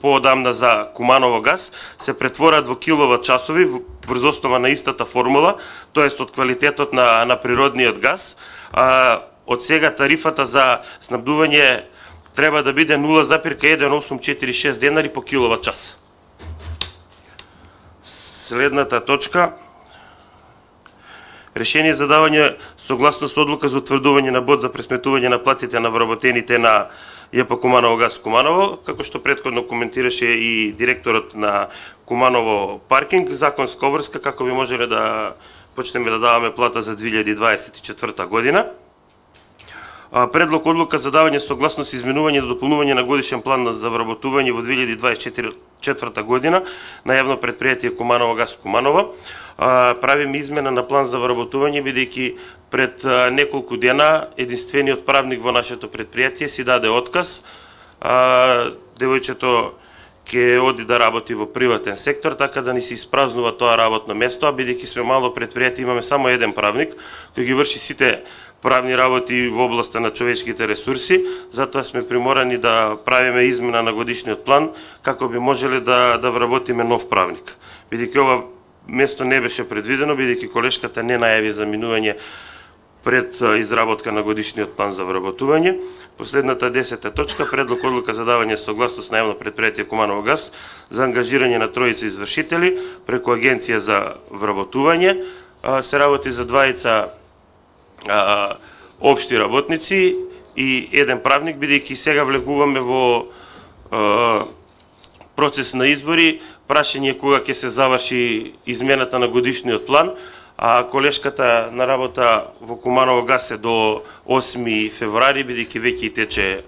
поодамна за Куманово газ, се претворат во киловат часови врз основа на истата формула, тоест од квалитетот на природниот газ. Од сега тарифата за снабдување треба да биде 0,1846 денари по киловат час. Следната точка. Решение за давање согласност одлука за утврдување на бод за пресметување на платите на вработените на ЈП Куманово газ Куманово, како што претходно коментираше и директорот на Куманово паркинг, законска обврска како би можеле да почнеме да даваме плата за 2024 година. Предлог одлука за давање согласност изменување и дополнување на годишен план за вработување во 2024 година на јавно предпријатие Куманово газ Куманово. Правиме измена на план за вработување, бидејќи пред неколку дена единствениот правник во нашето предпријатие си даде отказ. Девојчето ќе оди да работи во приватен сектор, така да ни се испразнува тоа работно место, а бидејќи сме мало предпријатие, имаме само еден правник кој ги врши сите правни работи во областа на човечките ресурси, затоа сме приморани да правиме измена на годишниот план како би можеле да вработиме нов правник. Бидејќи ова место не беше предвидено, бидејќи колешката не најави за минување пред изработка на годишниот план за вработување. Последната 10-та точка, предлог одлука за давање согласност на јавно предпријатие Куманово газ за ангажирање на тројца извршители преку агенција за вработување. Се работи за двајца општи работници и еден правник, бидејќи сега влегуваме во процес на избори, прашање кога ќе се заврши измената на годишниот план, а колешката на работа во Куманово газ е до 8 февруари, бидејќи веќе тече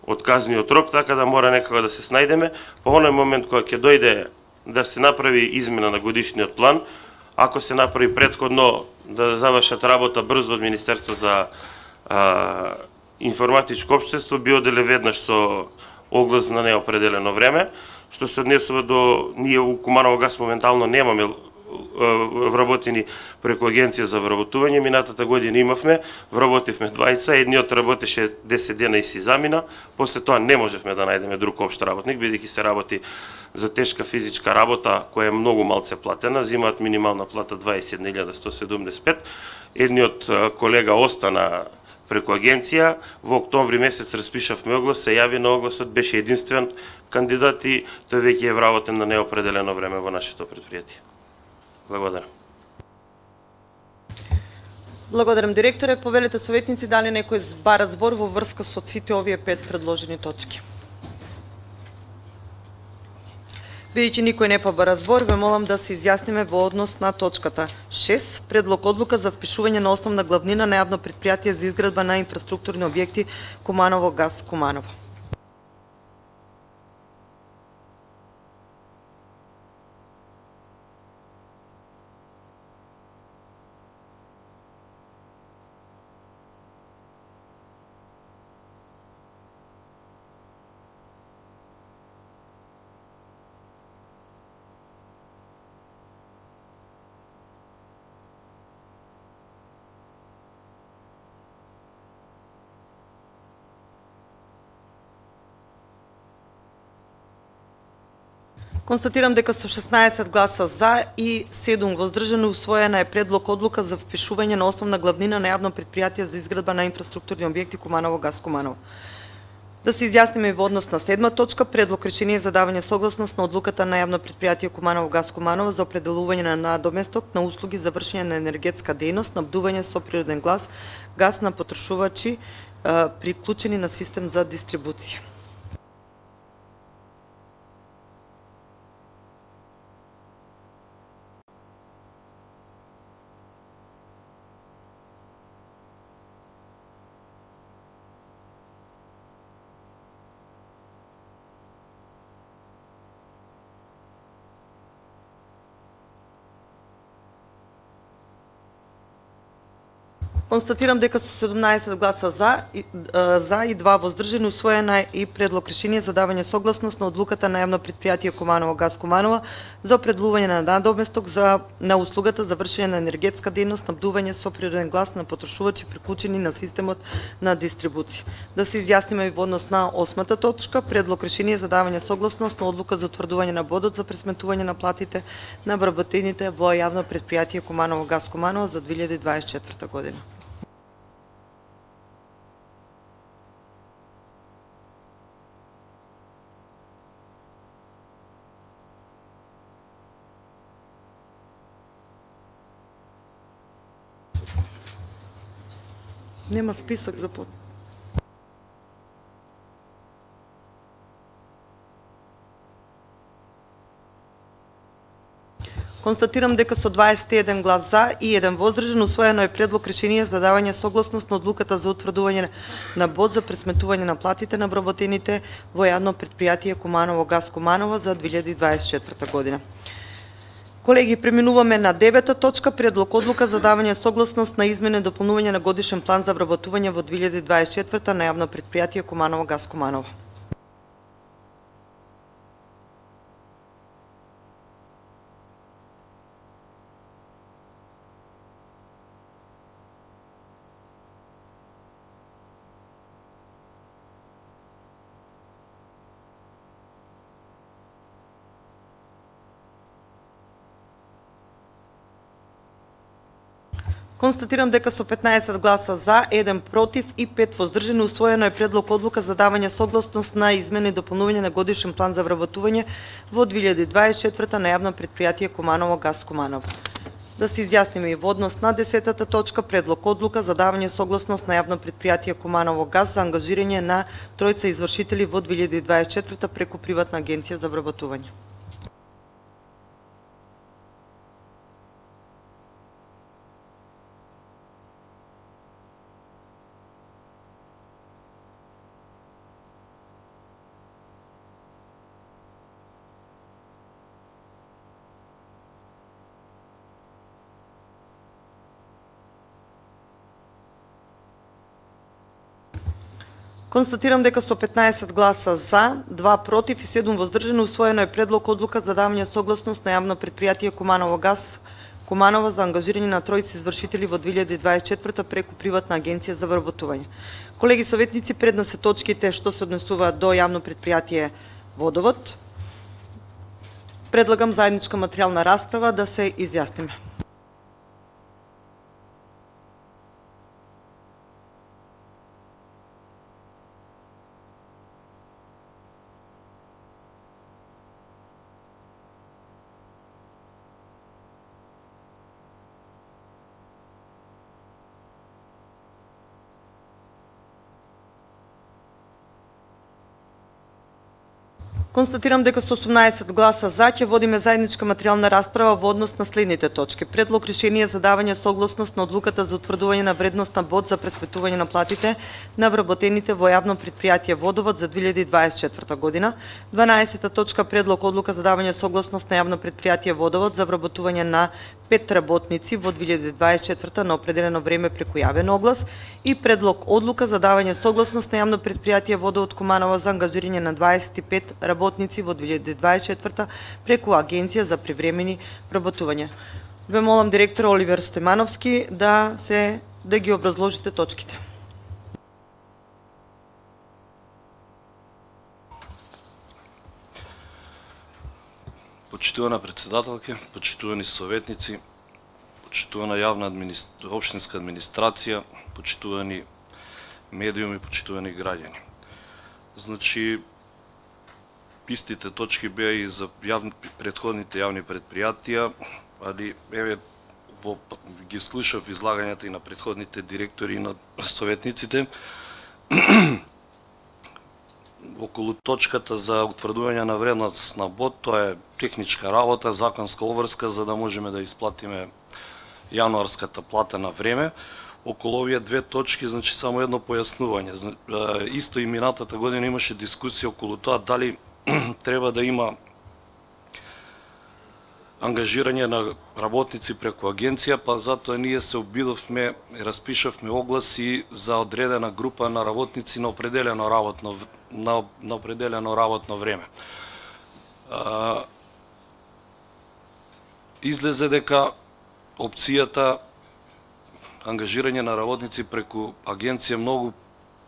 отказниот рок, така да мора некако да се снајдеме. По оној момент кога ќе дојде да се направи измена на годишниот план, ако се направи претходно да завршат работа брзо од Министерство за информатичко општество, би оделе веднаш со оглас на неопределено време. Што се однесува до ние у Куманово газ моментално немаме вработени преку агенција за вработување. Минатата година имавме, вработивме двајца, едниот работеше 10 дена и си замина, после тоа не можевме да најдеме друг општ работник, бидејќи се работи за тешка физичка работа која е многу малце платена, земаат минимална плата 21.175. Едниот колега остана преку агенција, во октомври месец распишавме оглас, се јави на огласот, беше единствен кандидат и тој веќе е вработен на неопределено време во нашето предпријатие. Благодарам. Благодарам, директоре. Повелете советници, дали некој бара збор во врска со сите овие 5 предложени точки? Бидејќи никој не побара збор, ве молам да се изјасниме во однос на точката 6, предлог одлука за впишување на основна главнина на јавно предпријатие за изградба на инфраструктурни објекти Куманово газ Куманово. Констатирам дека со 16 гласа за и 7 воздржани усвоена е предлог одлука за впишување на основна главнина на јавно предпријатие за изградба на инфраструктурни објекти Куманово газ Куманово. Да се изјасниме и во однос на 7 точка, предлог решение за давање согласност на одлуката на јавно предпријатие Куманово газ Куманово за определување на надоместок на услуги за вршење на енергетска дејност, снабдување со природен газ на потрошувачи приклучени на систем за дистрибуција. Констатирам дека со 17 гласа за и 2 воздржани усвоена и предлог решение за давање согласност на одлуката на јавно предпријатие Куманово газ Куманово за определување на надоместок на услугата за вршење на енергетска дејност, снабдување со природен газ на потрошувачи приклучени на системот на дистрибуција. Да се изјасниме и во однос на 8 точка, предлог решение за давање согласност на одлука за утврдување на бодот за пресметување на платите на вработените во јавно предпријатие Куманово газ Куманово за 2024 година. Нема список за под. Констатирам дека со 21 глас за и 1 воздржан усвоено е предлог решение за давање согласност на одлуката за утврдување на бод за пресметување на платите на вработените во јавно предпријатие Куманово газ Куманово за 2024 година. Колеги, преминуваме на 9 точка, предлог одлука за давање согласност на измена и дополнување на годишен план за вработување во 2024 на јавно предпријатие Куманово газ Куманово. Констатирам дека со 15 гласа за, 1 против и 5 воздржани усвоено е предлог одлука за давање согласност на измена и дополнување на годишен план за вработување во 2024 на јавно предпријатие Куманово газ Куманово. Да се изјасниме и во однос на 10 точка, предлог одлука за давање согласност на јавно предпријатие Куманово газ за ангажирање на тројца извршители во 2024 преку приватна агенција за вработување. Констатирам дека со 15 гласа за, 2 против и 7 воздржани усвоено е предлог одлука за давање согласност на јавно предпријатие Куманово газ Куманово за ангажирање на тројца извршители во 2024 преку приватна агенција за вработување. Колеги советници, пред нас се точките што се однесуваат до јавно предпријатие Водовод. Предлагам заедничка материјална расправа да се изјасниме. Констатирам дека со 18 гласа за ќе водиме заедничка материјална расправа во однос на следните точки. Предлог решение за давање согласност на одлуката за утврдување на вредност на бод за преспитување на платите на вработените во јавно предпријатие Водовод за 2024 година. 12 точка предлог одлука за давање согласност на јавно предпријатие Водовод за вработување на 5 работници во 2024 на определено време преку јавен оглас и предлог одлука за давање согласност на јавно предпријатие Водовод Куманово за ангажирање на 25 работници во 2024 преку агенција за привремени вработување. Ве молам директор Оливер Стојмановски да ги образложите точките. Почитувана председателке, почитувани советници, почитувана јавна општинска администрација, почитувани медиуми, почитувани граѓани. Значи, истите точки беа и за предходните јавни предпријатија, али еве ги слушав излагањата и на предходните директори и на советниците. Околу точката за утврдување на вредност на бод, тоа е техничка работа, законска обврска за да можеме да исплатиме јануарската плата на време. Околу овие две точки, значи само едно појаснување. Исто и минатата година имаше дискусија околу тоа дали треба да има ангажирање на работници преку агенција, па затоа ние се обидовме и распишавме огласи за одредена група на работници на определено работно време. Излезе дека опцијата ангажирање на работници преку агенција многу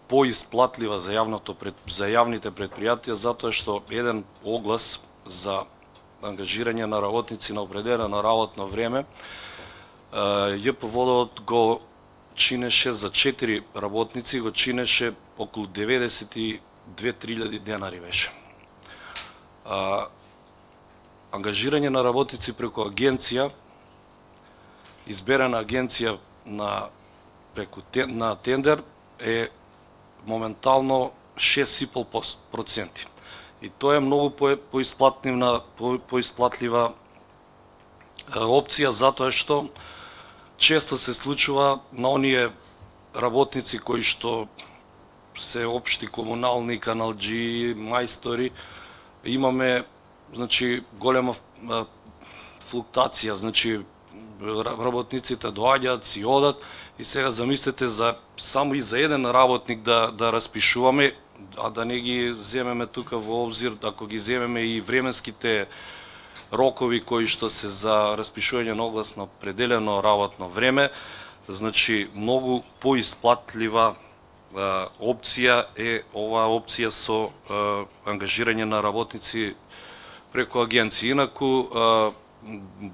поисплатлива за јавните предпријатија, затоа што еден оглас за ангажирање на работници на определено работно време, ЈП Водовод го чинеше за 4 работници, го чинеше околу 92.000 денари беше. Ангажирање на работници преку агенција, изберена агенција на тендер е моментално 6,5%. И тоа е многу поисплатлива опција, затоа што често се случува на оние работници кои што се општи комунални, каналџи, мајстори, имаме голема флуктација, работниците доаѓаат, си одат и сега замислете само и за еден работник да распишуваме, а да не ги земеме тука во обзир, ако ги земеме и временските рокови кои што се за распишување на оглас на определено работно време, значи многу поисплатлива опција е оваа опција со ангажирање на работници преку агенција. Инаку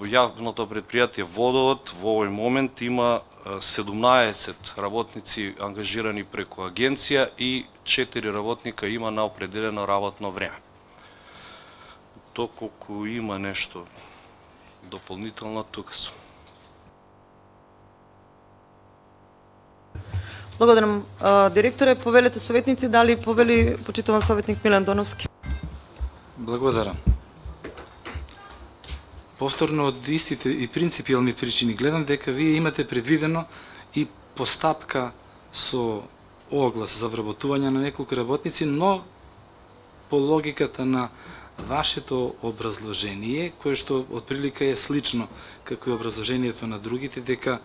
јавното предпријатие Водовод во овој момент има 17 работници ангажирани преку агенција и 4 работника има на определено работно време. Доколку има нешто дополнително, тука сум. Благодарам, директоре. Повелете советници, дали повели почитуван советник Милен Доновски? Благодарам. Повторно од истите и принципиални причини гледам дека вие имате предвидено и постапка со оглас за вработување на неколку работници, но по логиката на вашето образложение, кое што отприлика е слично како и образложението на другите, дека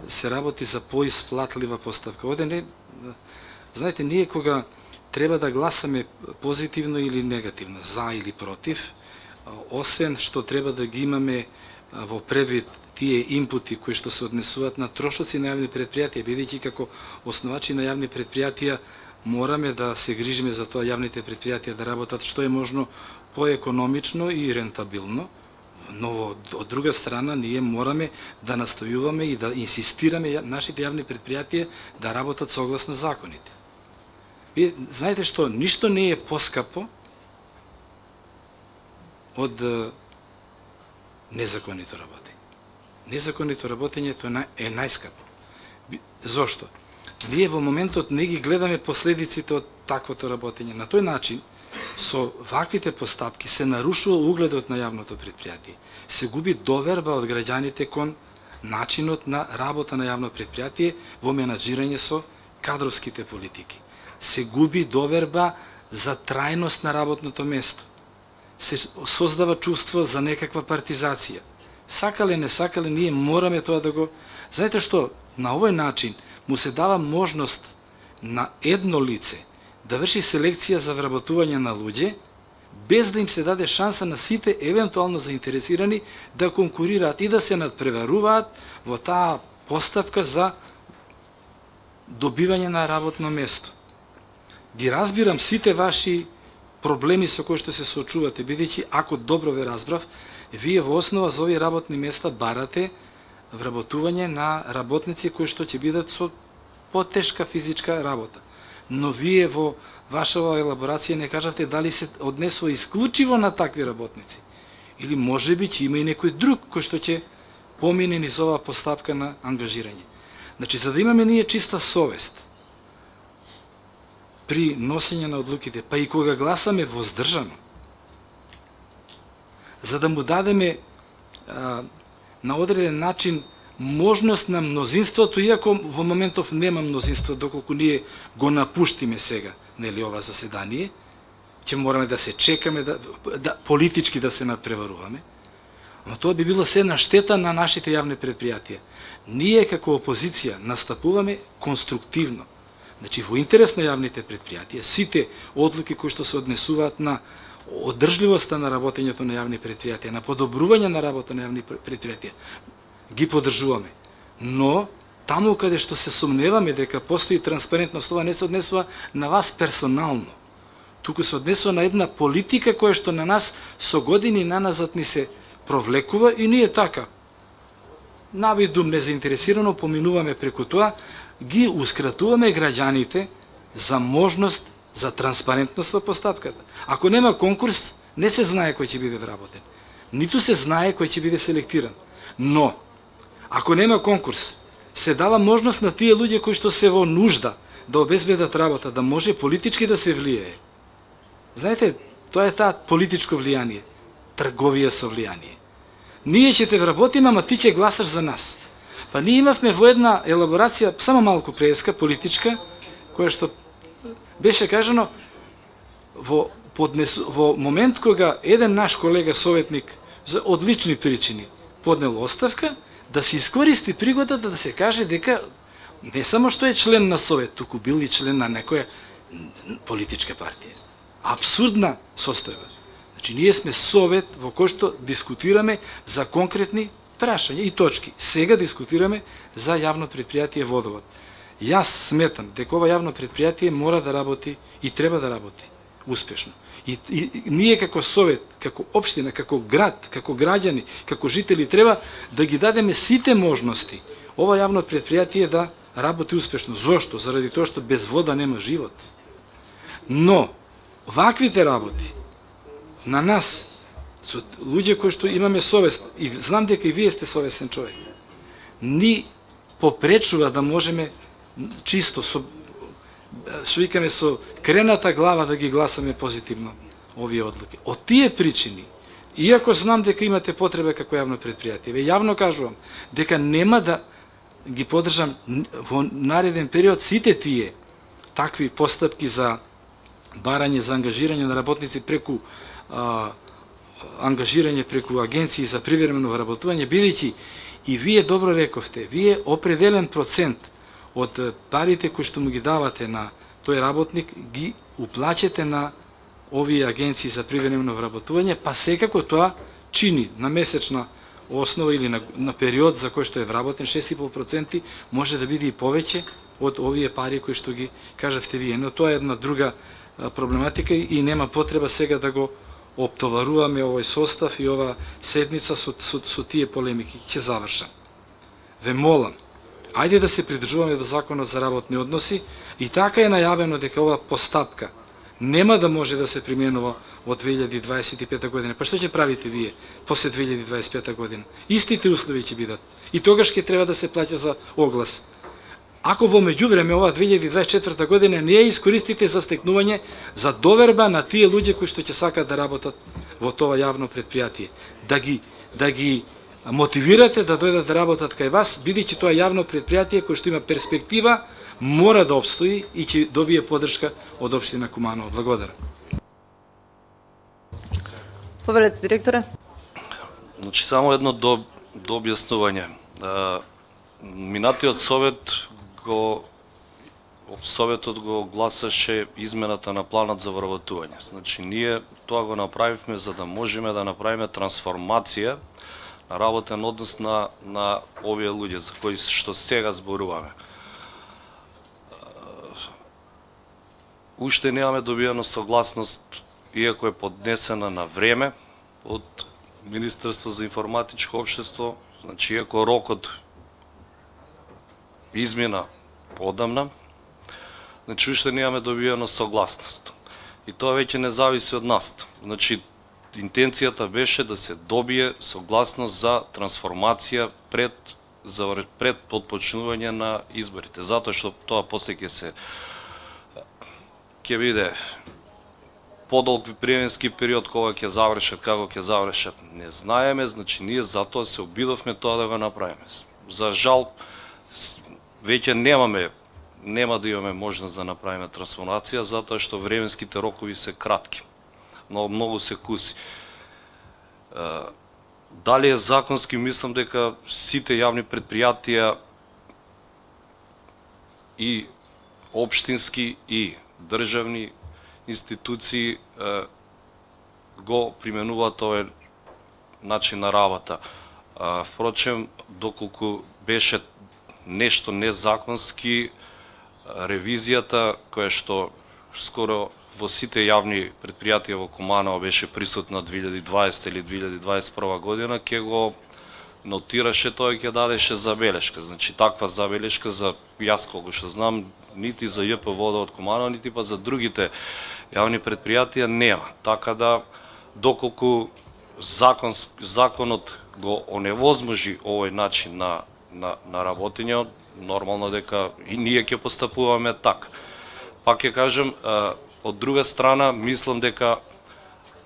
се работи за поисплатлива постапка. Знаете, ние кога треба да гласаме позитивно или негативно, за или против, освен што треба да ги имаме во предвид тие инпути кои што се однесуваат на трошоци на јавни предпријатија, бидејќи како основачи на јавни предпријатија мораме да се грижиме за тоа јавните предпријатија да работат што е можно поекономично и рентабилно, но од друга страна ние мораме да настојуваме и да инсистираме нашите јавни предпријатија да работат согласно законите. Вие знаете што, ништо не е поскапо од незаконито работење. Незаконито работењето е најскапо. Зошто? Ние во моментот не ги гледаме последиците од таквото работење. На тој начин, со ваквите постапки се нарушува угледот на јавното предпријатие. Се губи доверба од граѓаните кон начинот на работа на јавно предпријатие во менаџирање со кадровските политики. Се губи доверба за трајност на работното место. Се создава чувство за некаква партизација. Сакале, не сакале, ние мораме тоа да го... Знаете што, на овој начин му се дава можност на едно лице да врши селекција за вработување на луѓе, без да им се даде шанса на сите евентуално заинтересирани да конкурираат и да се надпреваруваат во таа постапка за добивање на работно место. Ги разбирам сите ваши проблеми со кои што се соочувате, бидејќи ако добро ве разбрав, вие во основа за овие работни места барате вработување на работници кои што ќе бидат со потешка физичка работа. Но вие во вашава елаборација не кажавте дали се однесува исклучиво на такви работници. Или можеби ќе има и некој друг кој што ќе помине низ оваа постапка на ангажирање. Значи, за да имаме ние чиста совест при носење на одлуките, па и кога гласаме воздржано, за да му дадеме на одреден начин можност на мнозинството, иако во моментов нема мнозинство, доколку ние го напуштиме сега, нели, ова заседание, ќе мораме да се чекаме, политички да се надпреваруваме, но тоа би било се на штета на нашите јавни предпријатија. Ние како опозиција настапуваме конструктивно. Значи, во интерес на јавните предпријатија, сите одлуки кои што се однесуваат на одржливоста на работењето на јавни предпријатија, на подобрување на работа на јавни предпријатија, ги поддржуваме. Но, таму каде што се сомневаме дека постои транспарентност, това не се однесува на вас персонално. Туку се однесува на една политика која што на нас со години наназад ни се провлекува и ние така, навидум незаинтересирано, поминуваме преку тоа, ги ускратуваме граѓаните за можност за транспарентност во постапката. Ако нема конкурс, не се знае кој ќе биде вработен. Ниту се знае кој ќе биде селектиран. Но, ако нема конкурс, се дава можност на тие луѓе кои што се во нужда да обезбедат работа, да може политички да се влијае. Знаете, тоа е таа политичко влијание, трговија со влијание. Ние ќе те вработиме, ама ти ќе гласаш за нас. Па ние имавме во една елаборација, само малку преска, политичка, која што беше кажано во момент кога еден наш колега советник за одлични причини поднел оставка, да се искористи пригодата да се каже дека не само што е член на совет, туку бил и член на некоја политичка партија. Абсурдна состојба. Значи, ние сме совет во кој што дискутираме за конкретни прашања и точки. Сега дискутираме за јавно предпријатие Водовод. Јас сметам дека ова јавно предпријатие мора да работи и треба да работи успешно. И ние како совет, како општина, како град, како граѓани, како жители треба да ги дадеме сите можности ова јавно предпријатие да работи успешно. Зошто? Заради тоа што без вода нема живот. Но ваквите работи на нас, со луѓе кои што имаме совест, и знам дека и вие сте совестен човек, ни попречува да можеме чисто, што викаме со крената глава да ги гласаме позитивно овие одлуки. Од тие причини, иако знам дека имате потреба како јавно предпријатие, ве јавно кажувам дека нема да ги поддржам во нареден период сите тие такви постапки за барање, за ангажирање на работници преку ангажирање преку агенции за привремено вработување, бидејќи и вие добро рековте, вие определен процент од парите кои што му ги давате на тој работник ги уплаќате на овие агенции за привремено вработување, па секако тоа чини на месечна основа или на период за кој што е вработен 6,5% може да биде и повеќе од овие пари кои што ги кажавте вие. Но тоа е една друга проблематика и нема потреба сега да го оптоваруваме овој состав и ова седница со тие полемики. Ќе завршам. Ве молам, ајде да се придржуваме до Законот за работни односи и така е најавено дека ова постапка нема да може да се применува од 2025 година. Па што ќе правите вие после 2025 година? Истите услови ќе бидат. И тогаш ќе треба да се плаќа за оглас. Ако во меѓувреме ова 2024 година не ја искористите за стекнување за доверба на тие луѓе кои што ќе сакат да работат во тоа јавно предпријатие, да ги мотивирате да дојдат да работат кај вас, бидејќи тоа јавно предпријатие кој што има перспектива, мора да обстои и ќе добие поддршка од општина Куманово. Благодарам. Повелете, директоре. Значи, само едно дообјаснување. Минатиот Советот го гласаше измената на планот за вработување. Значи, ние тоа го направивме за да можеме да направиме трансформација на работен однос на овие луѓе за кои што сега зборуваме. Уште немаме добиено согласност, иако е поднесена на време од Министерство за информатичко општество, значи иако рокот измина подамна, значи уште немаме добиено согласност. И тоа веќе не зависи од нас. Значи, интенцијата беше да се добие согласност за трансформација пред подпочнување на изборите, затоа што тоа после ќе биде подолг временски период кога ќе завршат, како ќе завршат, не знаеме, значи ние затоа се обидовме тоа да го направиме. За жал, веќе нема да имаме можност да направиме трансформација, затоа што временските рокови се кратки. Многу се куси. Дали е законски, мислам дека сите јавни предпријатија и општински и државни институции го применуваат овој начин на работа. Впрочем, доколку беше нешто незаконски, ревизијата која што скоро во сите јавни предпријатија во Куманово беше присутна 2020 или 2021 година, ќе го нотираше тоа и ќе дадеше забелешка. Значи, таква забелешка за јас колку што знам, нити за ЈП Водовод Куманово, нити па за другите јавни предпријатија нема. Така да, доколку законот го оневозможи овој начин на работење, нормално дека и ние ќе постапуваме така. Пак ќе кажем, од друга страна, мислам дека,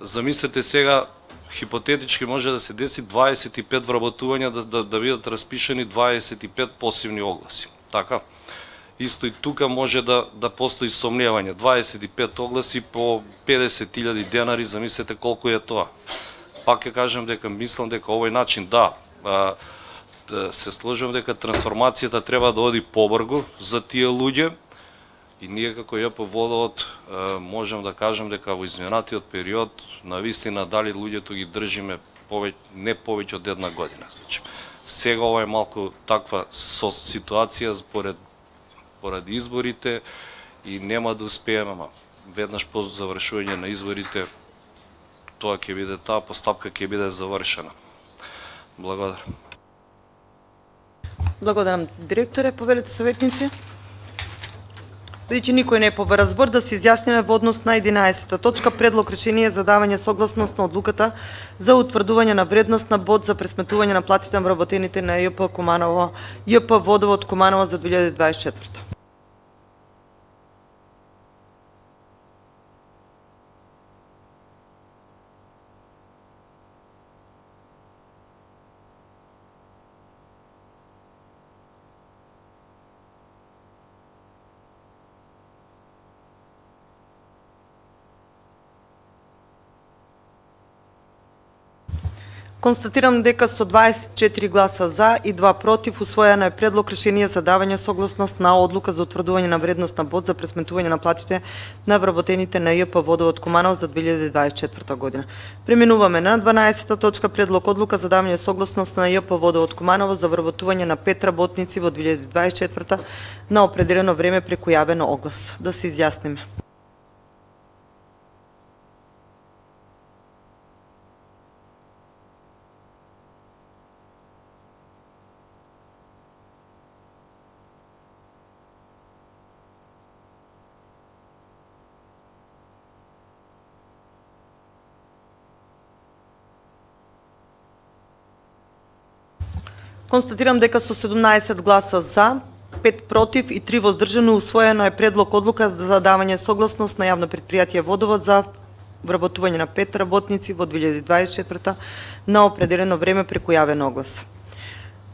замислете сега, хипотетички може да се деси 25 вработувања да бидат распишани 25 посивни огласи. Така? Исто и тука може да постои сомневање. 25 огласи по 50.000 денари, замислете колку е тоа. Пак ќе кажем дека мислам дека овој начин, се сложам дека трансформацијата треба да оди побрзо за тие луѓе и ние како ЈП Водовод можем да кажем дека во изминатиот период навистина дали луѓето ги држиме не повеќе од една година. Значи, сега ова е малку таква ситуација поради изборите и нема да успееме, веднаш по завршување на изборите таа постапка ќе биде завршена. Благодарам. Благодарам, директоре. Повелете, советници. Бидејќи никој не е побара збор, да се изјасниме во однос на 11-та точка, предлог решение за давање согласност на одлуката за утврдување на вредност на бод за пресметување на платите на вработените на ЈП Водовод Куманово за 2024. Констатирам дека со 24 гласа за и 2 против усвоена е предлог решение за давање согласност на одлука за утврдување на вредност на бод за пресметување на платите на вработените на ЈП Водовод Куманово за 2024 година. Преминуваме на 12-та точка, предлог одлука за давање согласност на ЈП Водовод Куманово за вработување на 5 работници во 2024 на определено време преку јавен оглас. Да се изјасниме. Констатирам дека со 17 гласа за, 5 против и 3 воздржани усвоено е предлог одлука за давање согласност на јавно предпријатие Водовод за вработување на 5 работници во 2024 на определено време преку јавен оглас.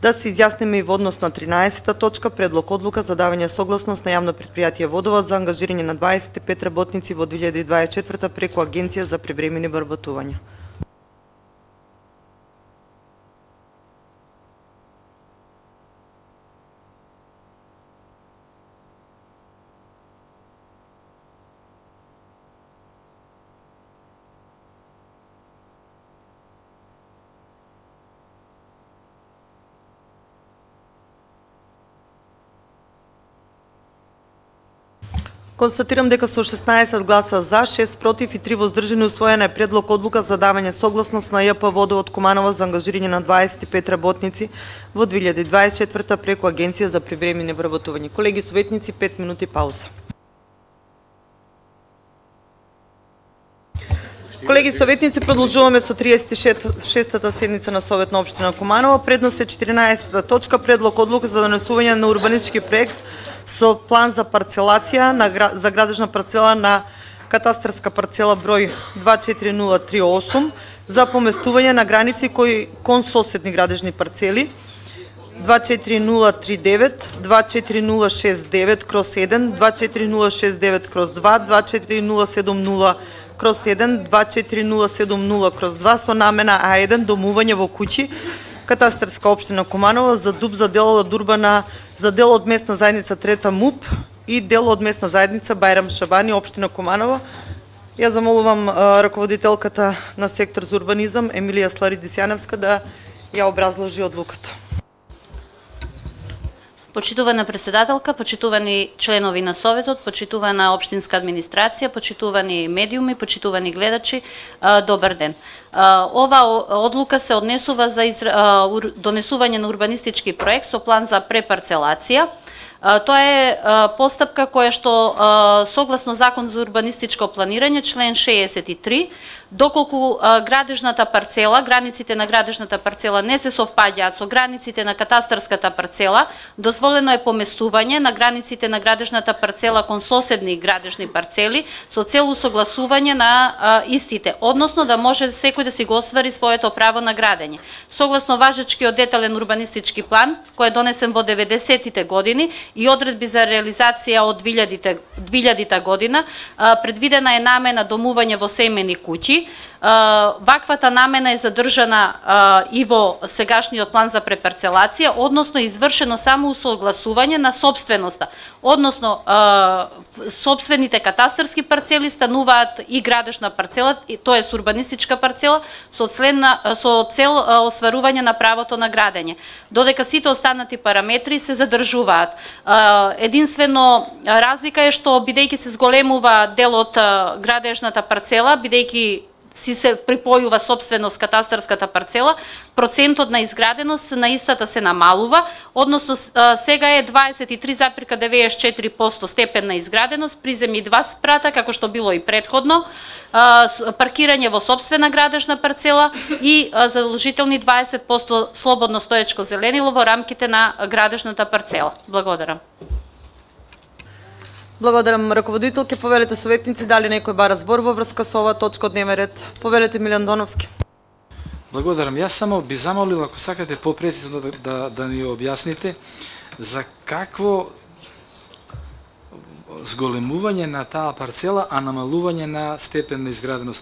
Да се изјасниме и во однос на 13-та точка, предлог одлука за давање согласност на јавно предпријатие Водовод за ангажирање на 25 работници во 2024 преку Агенција за привремени вработувања. Констатирам дека со 16 гласа за, 6 против и 3 воздржани усвоена е предлог одлука за давање согласност на ЈП Водовод Куманово за ангажирање на 25 работници во 2024 преку Агенција за привремени вработувања. Колеги советници, 5 минути пауза. Колеги советници, продолжуваме со 36-та седница на Совет на општина Куманово. Пред нас е 14-та точка, предлог одлука за донесување на урбанистички проект со план за парцелација за градежна парцела на катастарска парцела број 24038 за поместување на граници кон соседни градежни парцели 24039, 24069 крос 1, 24069 крос 2, 24070 крос 1, 24070 крос 2 со намена А1 домување во куќи, катастарска општина Куманово за ДУП за дел од урбана за дел од местна заедница Трета МУП и дел од местна заедница Бајрам Шабани, општина Куманово. Ја замолувам раководителката на сектор за урбанизам Емилија Сларидисјаневска да ја образложи одлуката. Почитувана председателка, почитувани членови на Советот, почитувана општинска администрација, почитувани медиуми, почитувани гледачи, добар ден. Ова одлука се однесува за донесување на урбанистички проект со план за препарцелација. Тоа е постапка која што согласно Закон за урбанистичко планирање, член 63, доколку градежната парцела, границите на градежната парцела не се совпаѓаат со границите на катастарската парцела, дозволено е поместување на границите на градежната парцела кон соседни градежни парцели со цел усогласување на истите, односно да може секој да си го оствари своето право на градење. Согласно важечкиот детален урбанистички план, кој е донесен во 90-тите години и одредби за реализација од 2000-та година, предвидена е намена домување во семени куќи. Ваквата намена е задржана и во сегашниот план за препарцелација, односно извршено само усогласување на собственоста, односно собствените катастарски парцели стануваат и градежна парцела, тоа е урбанистичка парцела, со цел остварување на правото на градење, додека сите останати параметри се задржуваат. Единствено разлика е што бидејќи се зголемува делот градежната парцела, бидејќи си се припојува собственост катастарската парцела, процентот на изграденост на истата се намалува, односно сега е 23,94% степен на изграденост, приземи 2 спрата, како што било и претходно, паркирање во собствена градежна парцела и задолжителни 20% слободно стоечко зеленило во рамките на градежната парцела. Благодарам. Благодарам, раководителке. Повелете советници, дали некој бара збор во врска со оваа точка од дневен ред? Повелете Милјан Доновски. Благодарам. Јас само би замолил, ако сакате попрецизно да ни објасните за какво зголемување на таа парцела, а намалување на степен на изграденост.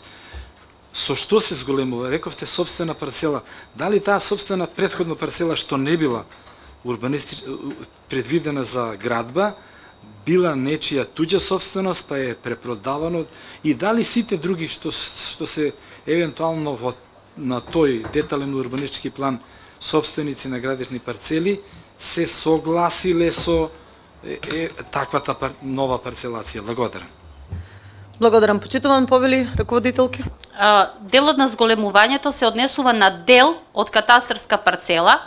Со што се зголемува? Рековте собствена парцела. Дали таа собствена претходна парцела што не била предвидена за градба, била нечија туѓа собственост, па е препродавано, и дали сите други што се евентуално на тој детален урбанистички план собственици на градични парцели се согласиле со таквата нова парцелација. Благодарам. Благодарам. Почитуван повели раководителки. Делот на зголемувањето се однесува на дел од катастарска парцела,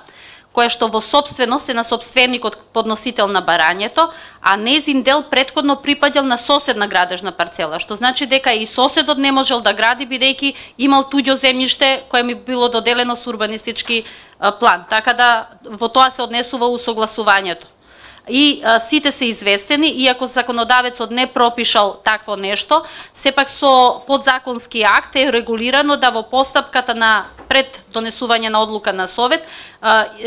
која што во собственост е на собственикот подносител на барањето, а незин дел претходно припаѓал на соседна градежна парцела, што значи дека и соседот не можел да гради бидејќи имал туѓо земјиште кое ми било доделено со урбанистички план. Така да во тоа се однесува усогласувањето. И сите се известени, иако законодавецот не пропишал такво нешто, сепак со подзаконски акт е регулирано да во постапката на пред донесување на одлука на Совет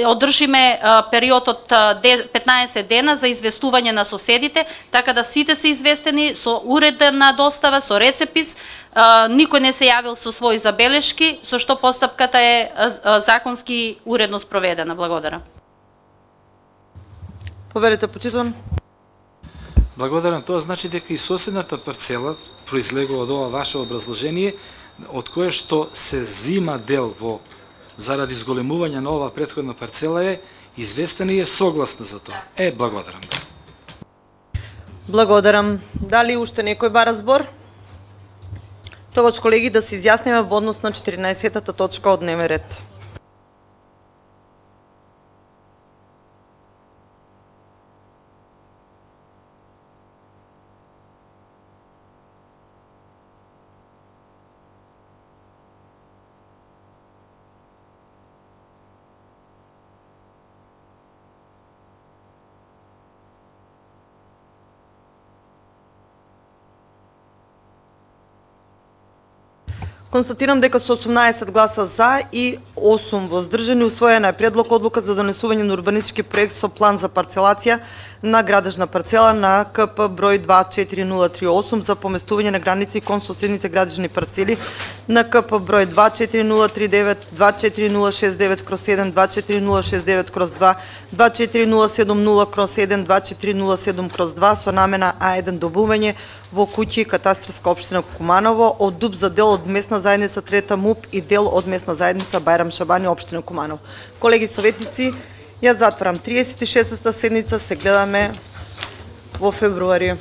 одржиме период од 15 дена за известување на соседите, така да сите се известени со уредна достава, со рецепис, никој не се јавил со своји забелешки, со што постапката е законски уредно спроведена. Благодарам. Поверете, почитуван. Благодарам. Тоа значи дека и соседната парцела произлегува од ова ваше образложение, од кое што се зима дел заради зголемување на ова претходна парцела е известена и е согласна за тоа. Благодарам. Благодарам. Дали уште некој бара збор? Тогаш, колеги, да се изјасниме во однос на 14-та точка од дневен ред. Констатирам дека со 18 гласа за и 8 воздржани усвоена е предлог одлука за донесување на урбанистички проект со план за парцелација на градежна парцела на КП број 24038 за поместување на граници кон соседните градежни парцели на КП број 24039, 24069/1, 24069/2, 24070/1, 24007/2 со намена А1 добување во куќи катастарска општина Куманово од ДУП за дел од местна заедница Трета МУП и дел од местна заедница Бајрам Шабани општина Куманово. Колеги советници, ја затварам 36-та седница, се гледаме во февруари.